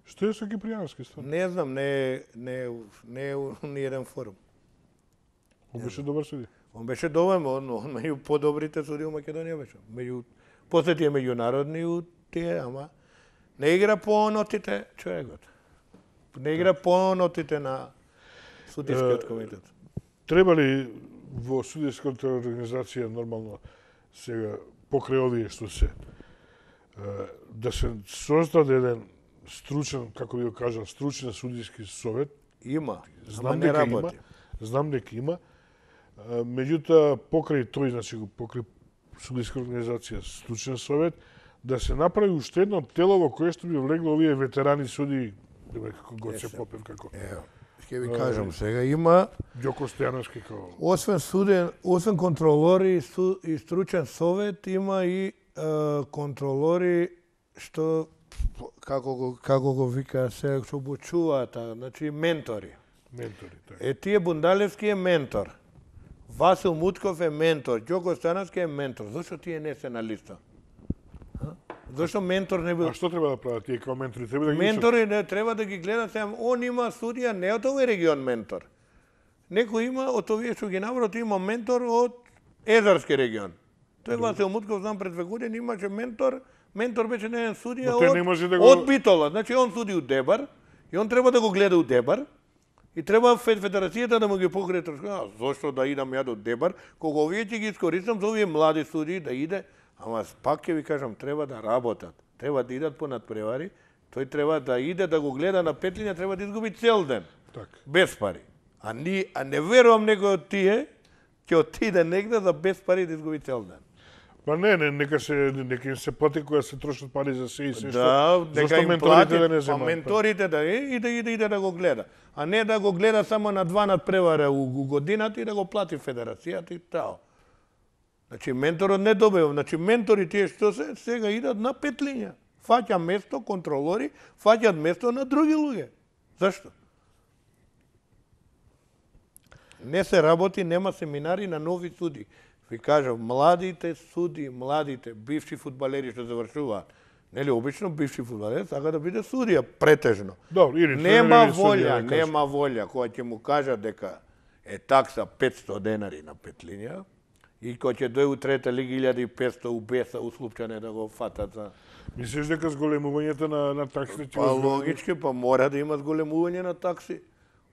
Што е со Кипријановски стварно? Не знам, не е не е не е у ниеден форум. Он беше добар судија. Он беше добар, он, он меѓу подобрите суди у Македонија беше. Меѓу после тие меѓународни у тие, ама не игра по нотите човекот. Не игра по нотите на судискиот комитет. Треба ли во судиската организација нормално сега покрај овие што се е, да се создаде еден стручен, како ви го кажам, стручен судиски совет? Има, Знам ама не дека има. работи. Знам дека има. Е, Меѓутоа покрај тој, значи покрај судиска организација, стручен совет, да се направи уште едно тело во кое што би влегло овие ветерани суди, како Гоце Попев, како Ево, ќе ви кажам сега, има Ѓоко Стојановски, како освен суден, освен контролори и, су, и стручен совет, има и е, контролори што како го како го вика се што обучуваат, а, значи ментори. ментори. Така. Е тие Бундалевски е ментор. Васил Мутков е ментор, Ѓоко Стојановски е ментор. Зошто тие не се на листа? А? Зошто ментор не бил? А што треба да прават тие као ментори? Треба да ги Ментори не треба да ги гледат, сега он има судија не од овој регион ментор. Некој има од овие што ги набрат, има ментор од Езерски регион. Тој Васил Мутков, знам пред две години имаше ментор, ментор беше на еден судија Но тој од, не може да го- од Битола. Значи он суди у Дебар и он треба да го гледа у Дебар и треба фед- федерацијата да му ги покрие трошко. А, зошто да идам ја до Дебар, кога овие ќе ги искористам за овие млади суди да иде, ама пак ќе ви кажам, треба да работат. Треба да идат по надпревари, тој треба да иде да го гледа на петлиња, треба да изгуби цел ден. Така. Без пари. А, ни, а не верувам некој од тие ќе отиде негде за без пари да изгуби цел ден. Па не, не, нека се нека им се плати кога се трошат пари за се и се Да, што. нека Зошто им менторите плати, да не па земаат? менторите да е и да иде, иде да го гледа. А не да го гледа само на два надпревара у, у годината и да го плати федерацијата и тао. Значи менторот не добива, значи ментори тие што се сега идат на петлиња. Фаќа место контролори, фаќаат место на други луѓе. Зашто? Не се работи, нема семинари на нови суди. Ви кажав, младите суди, младите бивши фудбалери што завршуваат, нели обично бивши фудбалери сака да биде судија претежно. Добро, или Нема тренери, судија, волја, да кажам. нема волја кога ќе му кажат дека е такса петсто денари на петлиња, И кој ќе дојде у трета лига илјада и петсто убеса у Слупчане да го фатат за... Мислиш дека зголемувањето на, на таксите ќе... Па логички, па мора да има зголемување на такси.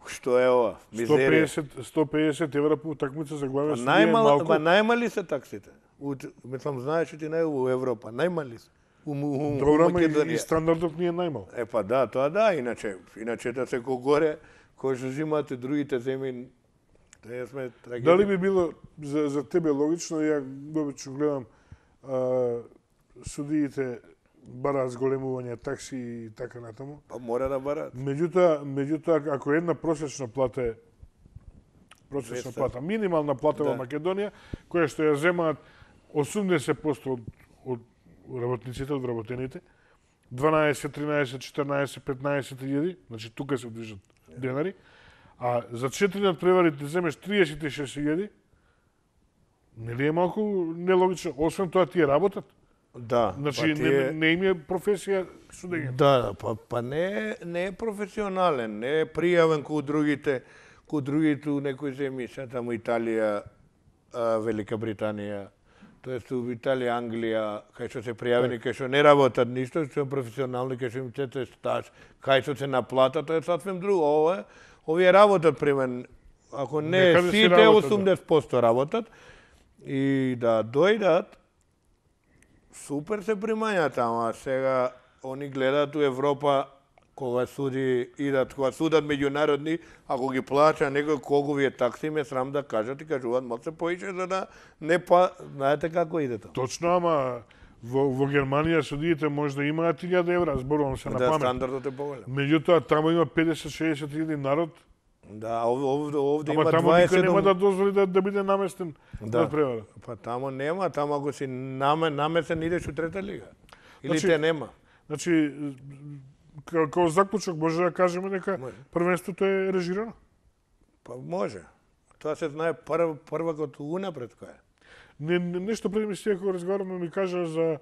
Што е ова? Мизерија. сто пеесет евра по утакмица за главен Па судија е најмал, малку. па најмали се таксите. У, мислам, знаеш ти нај у Европа, најмали се. У, у, Добро, у ама и, Македонија. и стандардот ни е најмал. Е па да, тоа да, иначе, иначе да се горе, кој што взимате другите земји, тоа сме трагедија. Дали би било за, за тебе логично, ја обично гледам а, судиите бараат зголемување такси и така натаму. Па мора да барат. Меѓутоа, меѓутоа ако една просечна плата е просечна двеста. плата, минимална плата Да. во Македонија, која што ја земаат осумдесет проценти од, од работниците, од вработените, дванаесет, тринаесет, четирнаесет, петнаесет илјади, значи тука се движат денари, а за четири надпревари ти земеш триесет и шест илјади, нели е малку нелогично, освен тоа тие работат. Да, Значи, па не, тие... не им е професија судење. Да, па, па не, е- не е професионален, не е пријавен ко другите, ко другите у некои земји, се таму Италија, а, Велика Британија, тоест у Италија, Англија, кај што се пријавени, кај што не работат ништо, што се професионални, кај што им цете стаж, кај што се наплата, тоа е сасвем друго. Ова е, овие работат при мен, ако не Некаде си сите, работат, да. осумдесет проценти работат, и да дојдат, супер се примањат, ама сега они гледаат у Европа кога суди идат, кога судат меѓународни, ако ги плаќа некој колку ви е такси, ме срам да кажат и кажуваат малку се поише за да не па, знаете како иде тоа. Точно, ама во, во Германија судиите може да имаат илјада евра, зборувам се на Да, памет. стандардот е поголем. Меѓутоа, таму има педесет до шеесет илјади народ, Да, овде, овде, овде ама има таму никој нема дваесет. да дозволи да, да биде наместен Да. на превара. Па тамо нема, тамо ако си наме, намесен идеш у трета лига. Или Значи, те нема. Значи, као, као заклучок може да кажеме дека Може. првенството е режирано. Па може. Тоа се знае прв, првакот унапред кој е. Не, не, нешто преди ми стига кога разговараме ми кажа за е,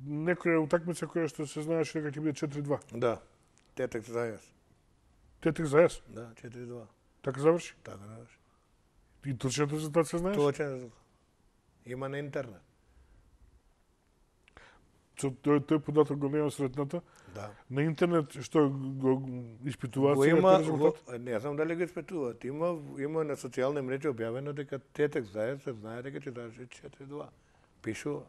некоја утакмица која што се знаеше дека ќе биде четири два. Да. Тетек за јас. Тетек за јас. Да, четири два. Така заврши. Така да. И точниот резултат се знаеш? Точен резултат. Има на интернет. Со тој, тој податок го немам сретната. Да. На интернет што го испитуваат Го сега има, тој го, резултат? не знам дали го испитуваат. Има, има на социјални мрежи објавено дека Тетек заедно се знае дека ќе заврши четири два. Пишува.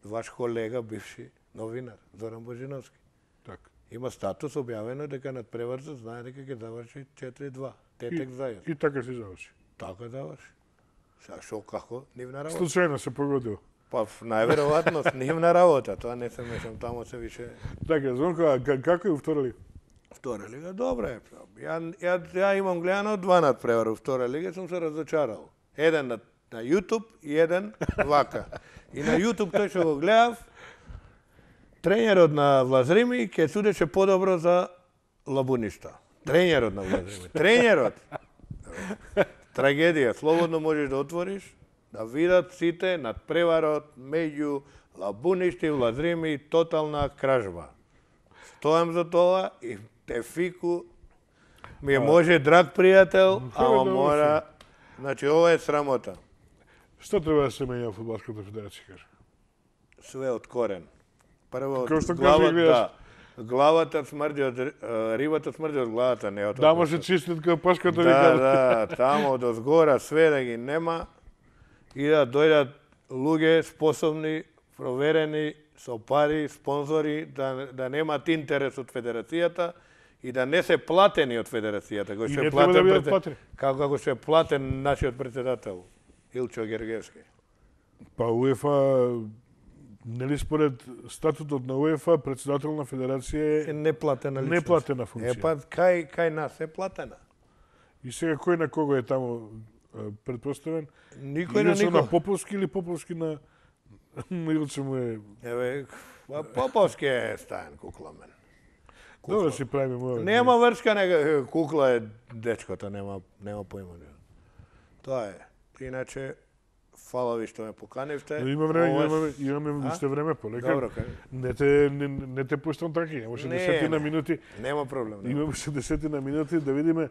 Ваш колега, бивши новинар, Зоран Божиновски. Така. Има статус објавено дека над преврзот знае дека ќе заврши четири два. Тетек заедно. И така се заврши. Така заврши. Сега шо како? Нивна работа. Случајно се погодил. Па најверојатно нивна работа, тоа не се мешам, тамо се више. Така, Звонко, а ка- како е у втора лига? Втора лига, добра е. Ја, ја, ја имам гледано два надпревари у втора лига, сум се разочарал. Еден на, на YouTube и еден вака. И на YouTube тој што го гледав, тренерот на Влазрими ќе судеше подобро за Лабуништа. Тренерот на Влазрими. Тренерот. Трагедија, слободно можеш да отвориш, да видат сите надпреварот меѓу Лабуништа и Влазрими, тотална кражба. Стојам за тоа и Тефику ми е може драг пријател, ама да мора... Значи, ова е срамота. Што треба да се менја во фудбалската федерација, кажа? Све од корен. Прво, Као што глава, кажа, гледаш. да, главата смрди од, ри- а, рибата смрди од главата, не од Да, може чистит као пашката Да, вика. да, тамо од озгора све да ги нема и да дојдат луѓе способни, проверени, со пари, спонзори, да, да немаат интерес од федерацијата и да не се платени од федерацијата, кој И што не е треба да платен бидат пред- платени. како како што е платен нашиот председател Илчо Гергевски. Па УЕФА, нели според статутот на УЕФА, председател на федерација Е е неплатена личност. неплатена функција. Е па кај кај нас е платена. И сега кој на кого е таму е, предпоставен? Никој на Илјачо никој. на Поповски или Поповски на Илчо му е... Еве, па Поповски е стаен кукламен. Добро си правиме моја. Нема врска, нега кукла е дечкото, нема нема поима. Тоа е. Иначе фала ви што ме поканивте. Но има време, Ова е- имаме, имаме А? уште време, полека. Добро, кај. Не те не, не те пуштам така, имаше Не, десетина не. минути. Нема проблем. Нема. Имаме уште десетина минути да видиме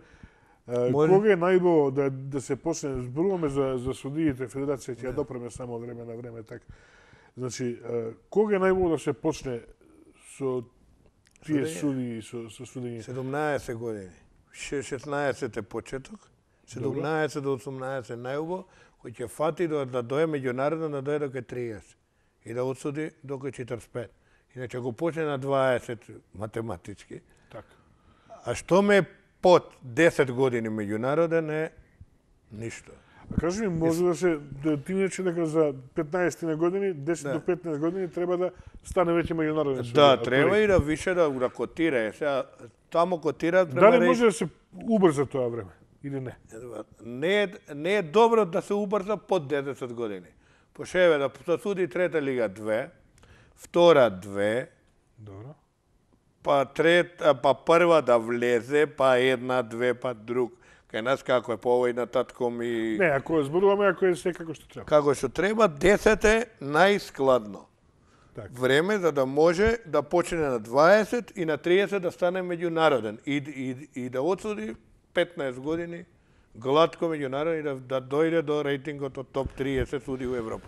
Може. Кога е најбо да да се почне, зборуваме за за судиите, федерација ќе ја допреме само од време на време така. Значи, кога е најбо да се почне со тие суди со со судење? седумнаесет години. шеснаесет е почеток, седумнаесет до осумнаесет најубо, кој ќе фати да да дое меѓународно, да дое до кај триесет и да отсуди до кај четиридесет и пет. Иначе го почне на дваесет математички. Така. А што ме под десет години меѓународен е ништо. А кажи ми, може да се да ти иначе дека за петнаесет на години, десет Да. до петнаесет години треба да стане веќе меѓународен суд. Да, треба и да више да, да котира. Е, сега, тамо котира треба Дали може да се убрза тоа време или не? Не е, не е добро да се убрза под десет години. Пошеве да да суди трета лига две, втора две, Добро. па трета, па прва да влезе, па една, две, па друг. Кај нас како е по овој нататком и Не, ако зборуваме, ако е се како што треба. како што треба, десет е најскладно. Така. Време за да може да почне на дваесет и на триесет да стане меѓународен и, и, и да отсуди петнаесет години гладко меѓународен и да, да дојде до рейтингот од топ триесет суди у Европа.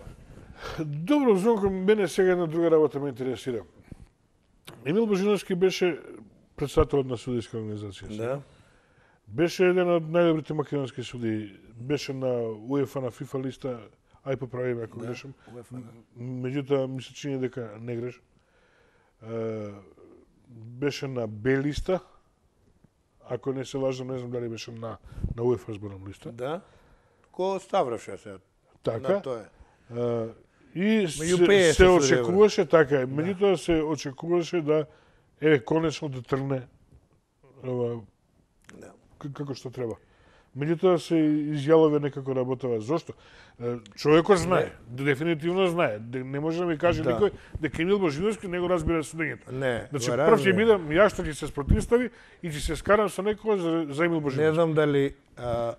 Добро, Звонко, мене сега една друга работа ме интересира. Емил Божиновски беше председател на судиска организација. Да. Беше еден од најдобрите македонски суди. Беше на УЕФА, на ФИФА листа, ај поправи ме ако Да, грешам. УЕФА, да. Меѓутоа, ми се чини дека не греш. Е, беше на Б листа, ако не се лажам, не знам дали беше на, на УЕФА зборам листа. Да. Ко Ставроше се Така. на тоа. Е, и Меѓу се, петдесет се судија, очекуваше, така е, меѓутоа се очекуваше да, еве, конечно да тргне ова, Да. к- како што треба. Меѓутоа се изјавува некако работава. Зошто? Е, Човекот знае, дефинитивно знае. Де- Не може да ми каже Да. никој дека Емил Божиновски не го разбира судењето. Не, Значи, го прв ќе разбира. бидам јас што ќе се спротивстави и ќе се скарам со некој за, за Емил Не Божиновски. знам дали а,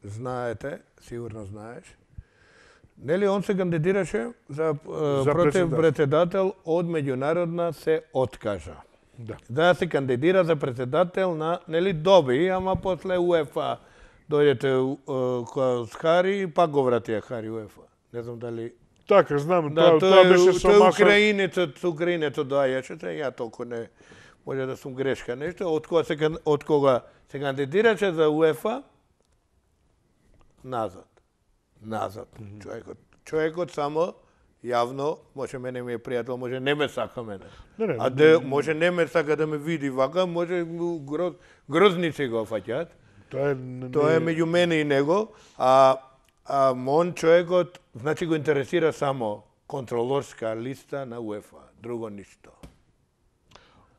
знаете, сигурно знаеш. Нели он се кандидираше за, а, За против председател. председател од меѓународна се откажа. Да. Да се кандидира за председател на, нели доби, ама после УЕФА дојдете кога с Хари и пак го вратија Хари УЕФА. Не знам дали Така, знам, да, тоа, тоа тој, беше со тој маса... украинецот, украинецот доаѓаше, те ја толку не може да сум грешка нешто, од кога се кан- од кога се кандидираше за УЕФА назад. Назад. Mm -hmm. Човекот, човекот само јавно, може мене ми е пријател, може не ме сака мене. Не, не, а де, може не ме сака да ме види вака, може му гроз, грозници го фаќаат. Тоа е, не- Тоа е меѓу мене и него, а, а мон човекот, значи го интересира само контролорска листа на УЕФА, друго ништо.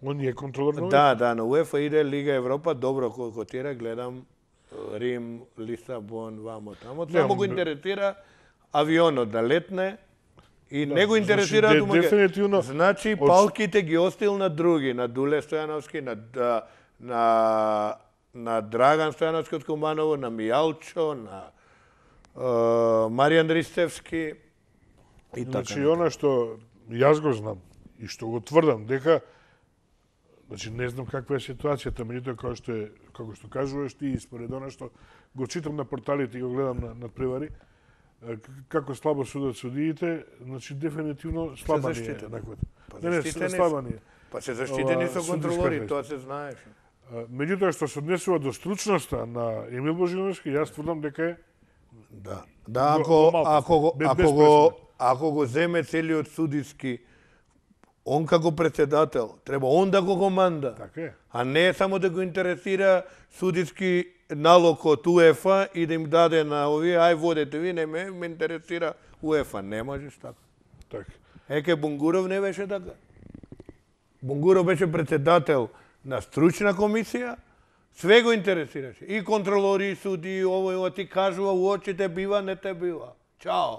Он е контролор на Да, да, на УЕФА иде Лига Европа, добро кој котира, гледам Рим, Лисабон, вамо тамо. Не, Само он- го интересира авионот да летне и Да, не го значи, интересира де- домаќа- дефинитивно, Значи од- палките ги остил на други, на Дуле Стојановски, на да, на на Драган Стојановски од Куманово, на Мијалчо, на е, Маријан Ристевски и така. Значи, она што јас го знам и што го тврдам, дека значи не знам каква е ситуацијата, меѓутоа како што е, како што кажуваш ти и според она што го читам на порталите и го гледам на на превари, е, к- како слабо судат судиите, значи дефинитивно слаба ни е заштитени. еднаквата. Па Не, не, заштитени слаба ни е. Па се заштитени Ова, со судиска контролори, фест. тоа се знаеше. А, Меѓутоа што се однесува до стручноста на Емил Божиновски, јас тврдам дека е Да. Да, Го- ако го малку, ако го без- ако без го пресуда. ако го земе целиот судиски он како председател, треба он да го команда. така е. А не само да го интересира судиски налог од УЕФА и да им даде на овие, ај водете ви, не ме, ме интересира УЕФА. Не можеш така. Така. Еке Бунгуров не беше така. Бунгуров беше председател на стручна комисија, све го интересираше. И контролори, и суди, ово и ово ти кажува у очите бива, не те бива. Чао.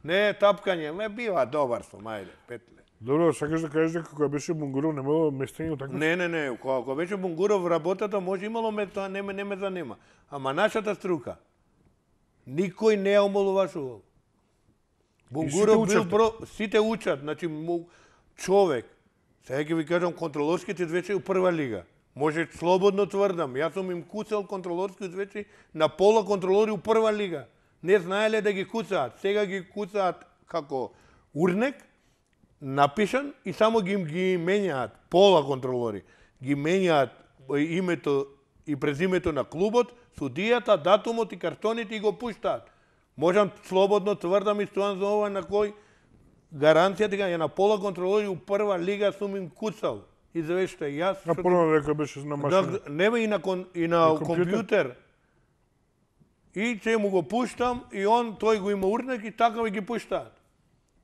Не тапкање, ме бива, добар сум, ајде, петле. Добро, сакаш да кажеш дека кога беше Бунгуров немало местење така? Не, не, не, кога, кога беше Бунгуров работата, може имало ме тоа, не ме, не ме занима. Ама нашата струка, никој не ја омалуважувал. Бунгуров сите бил учевте. бро, сите учат, значи му, човек, сега ќе ви кажам, контролорските вече у прва лига. Може слободно тврдам, јас сум им куцал контролорски извечи на пола контролори у прва лига. Не знаеле да ги куцаат, сега ги куцаат како урнек, напишан и само ги, ги менјаат пола контролори. Ги менјаат името и презимето на клубот, судијата, датумот и картоните и го пуштаат. Можам слободно тврдам и стојам за ова на кој гаранција дека ја на пола контролори у прва лига сум им куцал. Извеште, јас... А прво дека беше на машина. Да, нема и на, кон, и на, на компјутер. И че му го пуштам и он, тој го има урнек и така ги пуштаат.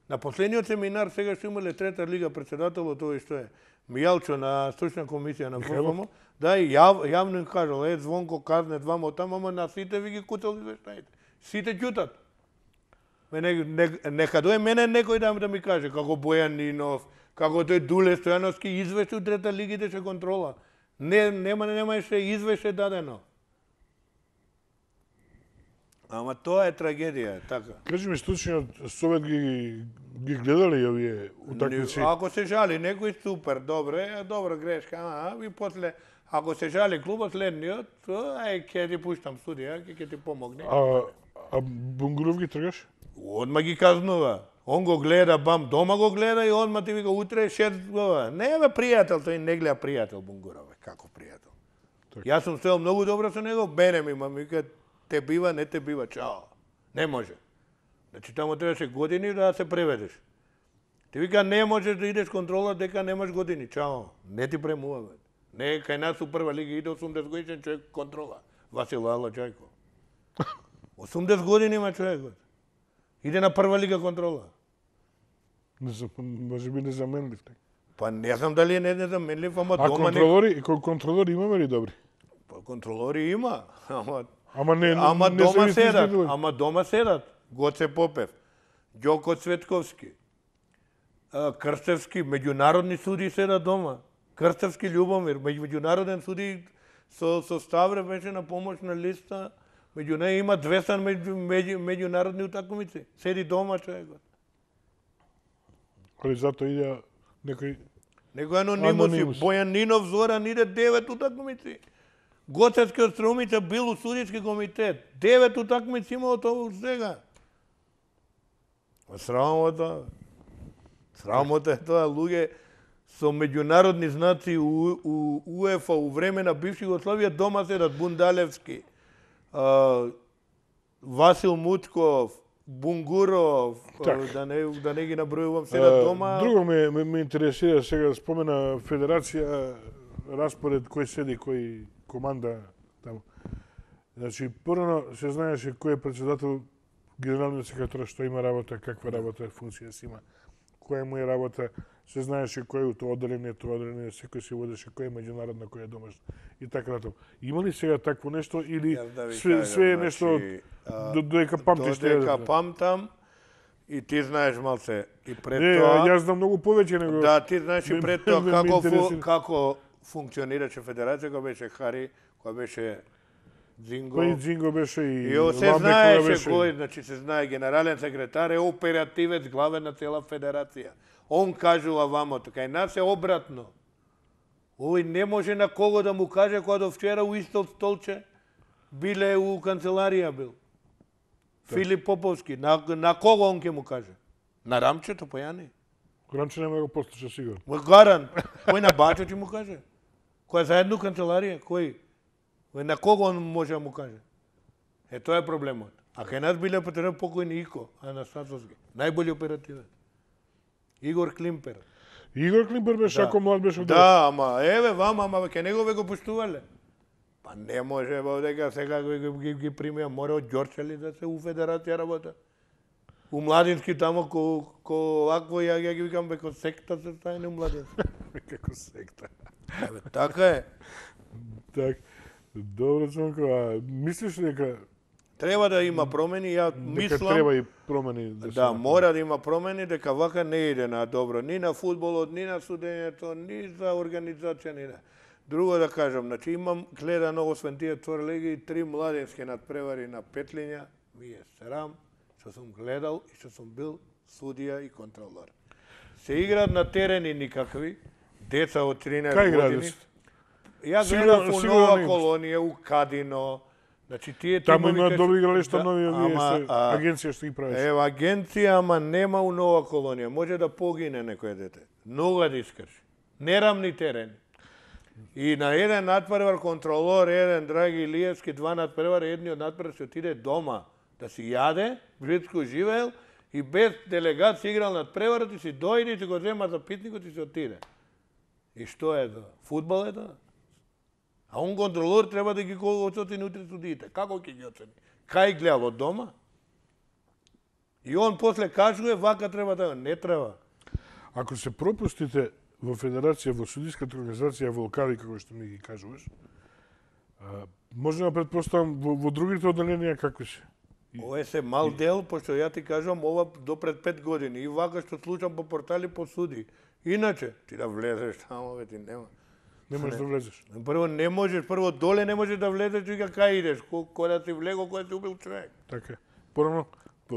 На последниот семинар сега што имале трета лига председателот, тој што е Мијалчо на стручна комисија на ФФМ, да и јав, јавно им кажал, е Звонко казне двама оттам, ама на сите ви ги куцал извештаите. Сите ќутат. Не, не, нека дојде мене некој да, да ми каже, како Бојан Нинов, како тој Дуле Стојановски извеште у трета лига идеше контрола. Не, нема, немаше извеште дадено. Ама тоа е трагедија, така. Кажи ми, Стручниот совет ги, ги гледале и овие утакмици? Ако се жали некој, супер, добре, добра грешка, ама и после, ако се жали клубот следниот, ај, ќе ти пуштам судија, ќе ќе ти помогне. А, а Бунгуров ги тргаш? Одма ги казнува. Он го гледа, бам, дома го гледа и одма ти вика утре шест глава. Не бе пријател, тој не гледа пријател Бунгуров, како пријател. Так. Јас сум стоел многу добро со него, мене ми ма вика те бива, не те бива, чао. Не може. Значи таму требаше години да се преведеш. Ти вика не можеш да идеш контрола дека немаш години, чао. Не ти премува бе. Не кај нас у прва лига иде осумдесет годишен човек контрола. Васил Алаџајко. осумдесет години има човекот. Иде на прва лига контрола. Не за, може би незаменлив. Па не знам дали е не незаменлив, ама а дома... А контролори, не... контролори имаме ли добри? Па контролори има, ама... Ама не, ама не дома се седат, изгледали. ама дома седат. Гоце Попев, Ѓоко Цветковски, Крстевски, меѓународни суди седат дома. Крстевски Љубомир, меѓународен суди со, со Ставре беше на помошна листа. Меѓу неја има двеста меѓу, меѓу, меѓународни утакмици. Седи дома човекот. Али зато иде некој... Некој анонимус. Бојан Нинов, Зоран иде девет утакмици. Гоцевски од Струмица бил у судиски комитет. Девет утакмици имало тоа сега. Срамота. Срамота е тоа. Луѓе со меѓународни знаци у, у УЕФА у време на бивша Југославија дома седат Бундалевски, Uh, Васил Мутков, Бунгуров, uh, да не да не ги набројувам сега uh, дома. Друго ме, ме, ме интересира сега спомена федерација, распоред кој седи, кој команда таму. Значи, прво се знаеше кој е председател, генералниот секретар, што има работа, каква работа, функција си има, која му е работа, се знаеше кој е тоа одделение, тоа одделение, секој се водеше кој е меѓународна, кој е домашна и така натаму. Има ли сега такво нешто или да све, кажам, све е нешто значи, додека памтиш? Додека памтам и ти знаеш малце и пред не, тоа. Јас знам многу повеќе него. Да, ти знаеш и пред тоа како фу, како функционираше федерација, која беше Хари, која беше Дзинго. Кој Дзинго беше и И се знаеше кој, значи се знае генерален секретар е оперативец главен на цела федерација. Он кажува вамо, кај нас е обратно. Овој не може на кого да му каже кога до вчера у исто столче биле у канцеларија бил. Да. Филип Поповски, на, на кого он ќе му каже? На Рамчето, појани? Рамче нема го послуша сигурно. Гарант. Кој на Бачо ќе му каже? Кој е заедно канцеларија? Кој? На кого он може да му каже? Е, тоа е проблемот. А кај нас биле потребно покојни Ико, Анастасовски. Најболи оперативен. Игор Климпер. Игор Климпер беше, да. Ако млад беше... Да, ама, еве, вама, ама, ке него ве го пуштувале. Па не може, бе, дека сега ги, ги, ги примија, мора од Ѓорчали да се у федерација работа. У Младински тамо, ко, ко акво, ја, ја ги викам, бе, ко секта се стајне у Младински. Како секта. Еве, така е. Так, добро, Цонко, а мислиш дека... Треба да има промени, ја мислам... Дека треба и промени да се... Да, мора да има промени, дека вака не иде на добро, ни на фудбалот, ни на судењето, ни за организација, ни на... Друго да кажам, значи имам гледано, освен тие тврлеги, три младенски надпревари на Петлиња, ми е срам, што сум гледал и што сум бил судија и контролор. Се играат на терени никакви, деца од тринаесет години. Ја Сигурно- гледав у сигурно Нова не. Колонија, у Кадино. Значи тие Таму тимови има кај- добри игралишта, Да, нови овие ама, што а, агенција што ги правиш. Ева агенција, ама нема у Нова Колонија. Може да погине некој дете. Нога да искрши. Нерамни терени. И на еден надпревар контролор, еден Драги Илиевски, два надпревар, едниот надпревар се отиде дома да си јаде, блиско живеел и без делегат си играл надпреварот и си дојде и си го зема запитникот и се отиде. И што е тоа? Фудбал е тоа? А он контролор треба да ги оцени утре судиите. Како ќе ги оцени? Кај гледал од дома? И он после кажува вака треба да не треба. Ако се пропустите во федерација, во судиската организација волкави, како што ми ги кажуваш, а, може да предпоставам во, во другите одделенија какви се? Ова е се мал дел, пошто ја ти кажувам ова до пред пет години. И вака што слушам по портали по суди. Иначе, ти да влезеш тамо, бе, ти нема. Не можеш да влезеш. Прво не можеш, прво доле не можеш да влезеш, вика кај идеш, кој да си влего, кој си убил човек. Така е. Порано,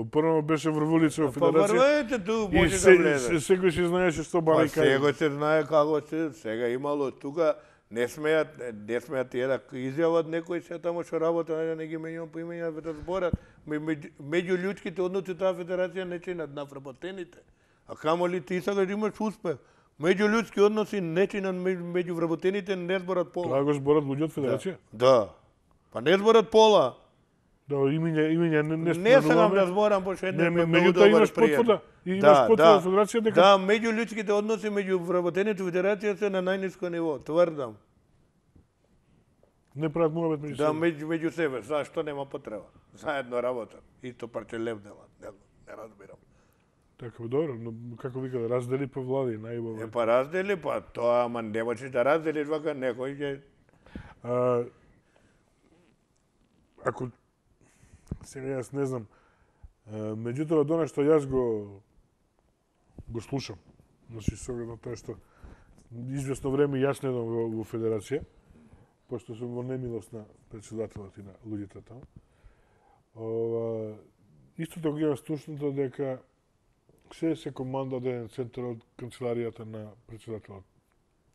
порано беше врвулица во Па федерација. врвете ту, И може се, да влезеш. се, секој си знаеше што Па бали кај. сега се знае како се, сега имало тука не смеат, не смеат тие да изјават некој се тамо што работа, да не ги менјам по имења да зборат. Меѓу меѓу луѓските односи таа федерација не чинат навработените. А камоли ти сакаш да имаш успех. Меѓу луѓски односи не чинат меѓу вработените, не зборат пола. Тоа го зборат луѓе од федерација? Да. Па не зборат пола. Да, имења, имења не не Не сакам да зборам, пошто еден Не, ме многу меѓутоа добар имаш пријател. потврда. И имаш Да, потврда да. од федерација дека Да, меѓу луѓските односи меѓу вработените федерација се на најниско ниво, тврдам. не прават муабет меѓу Да, себе. меѓу, меѓу себе, зашто нема потреба? Заедно работат. Исто парче лев делат, не, не разбирам. Така, добро, но како вика, да раздели по влади, Е, најубаво. па раздели, па тоа, ама не можеш да разделиш вака некој ќе... А, ако сега јас не знам, а, меѓутоа до нешто јас го го слушам. Значи со оглед на тоа што извесно време јас не идам во, во федерација, пошто сум во немилост на председателот и на луѓето таму. Ова, исто така имам слушното дека се се команда од еден центар од канцеларијата на председателот.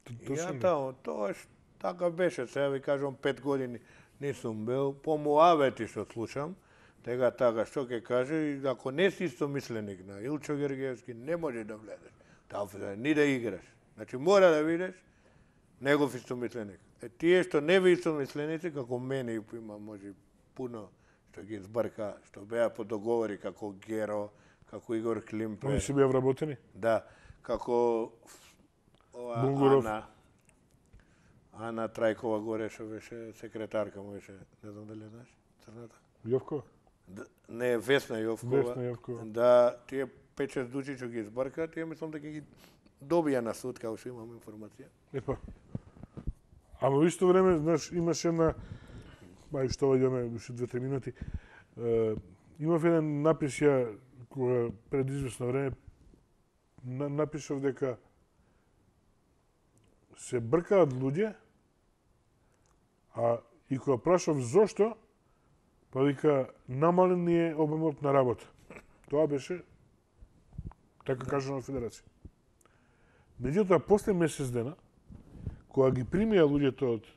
Т- Ја Точно ли? тамо, тоа ш, така беше, сега ви кажам пет години не сум бил, по муавети што слушам, тега така што ќе каже, и ако не си истомисленик на Илчо Гергиевски, не може да влезеш. Таа федерација, ни да играш. Значи мора да видиш негов истомисленик. Е тие што не ви истомисленици, како мене има може пуно што ги збрка, што беа по договори како Геро, како Игор Климпе. Они се беа вработени? Да, како ова Бунгуров. Ана, Ана Трајкова горе што беше секретарка му беше, не знам дали знаеш, црната. Јовко? Д- Не, Весна Јовкова. Весна Јовкова. Да, тие пет-шест души што ги избрка, тие мислам дека ги добија на суд, како што имам информација. Епа. Ама во исто време, знаеш, имаше една, ај што ваѓаме уште две-три минути, е, имав еден напис ја, кога пред извесно време, на, напишав дека се бркаат луѓе, а и кога прашав зошто, па вика, намален ни е обемот на работа. Тоа беше, така кажано на Федерација. Меѓутоа, после месец дена, кога ги примија луѓето од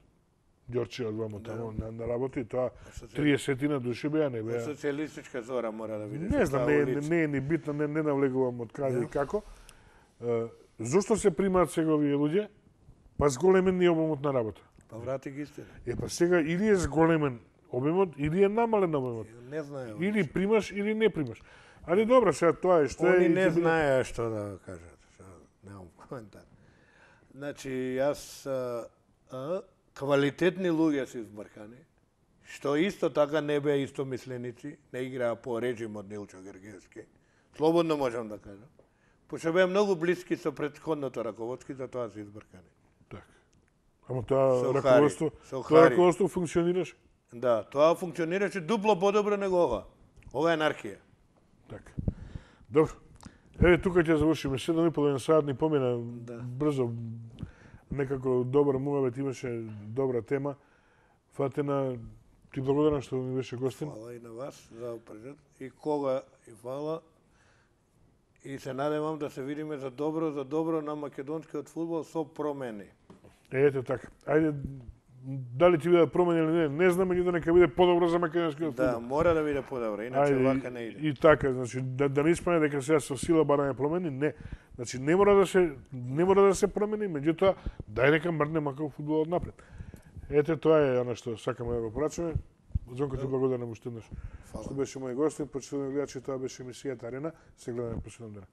Ѓорче од вамо таму на, на работа, и тоа триесет души беа, не беа. Социјалистичка зора мора да видиш. Не знам, таа не, не, улица. не е ни битно, не, не навлегувам од каде и како. Е, зошто се примаат сега овие луѓе? Па зголемен ни е обемот на работа. Па врати ги истина. Е, па сега или е зголемен обемот, или е намален обемот. Не знае. Или примаш, или не примаш. Али добро, сега тоа е што е. Они и не ќе биде- знаеа што да кажат. Што, немам коментар. Значи, јас а, а, квалитетни луѓе се избркани, што исто така не беа истомисленици, не играа по режимот Нилчо Гергиевски. Слободно можам да кажам. Пошто беа многу блиски со претходното раководство, за тоа се избркани. Така. Ама тоа Со раководство, Хари, со тоа Хари. раководство функционираше. Да, тоа функционираше дупло подобро него ова. Ова е анархија. Така. Добро. Еве тука ќе завршиме. седум и половина сат ни помина Да. брзо. Некако добар муавет имаше, добра тема. Фатена, ти благодарам што ми беше гостин. Фала и на вас за прежет. И кога и фала. И се надевам да се видиме за добро, за добро на македонскиот фудбал со промени. Ете така. Ајде, дали ќе биде промени или не, не знам, меѓутоа нека биде подобро за македонскиот Да, фудбал. мора да биде подобро, иначе Ајде, вака не иде. И така, значи да, да не испане дека сега со сила бараме промени, не. Значи не мора да се не мора да се промени, меѓутоа дај нека мрдне макар фудбалот напред. Ете тоа е она што сакаме да го порачаме. Зонко ти благодарам уште еднаш. Што беше мој гостин, почитувани гледачи, тоа беше емисијата Арена. Се гледаме последен ден.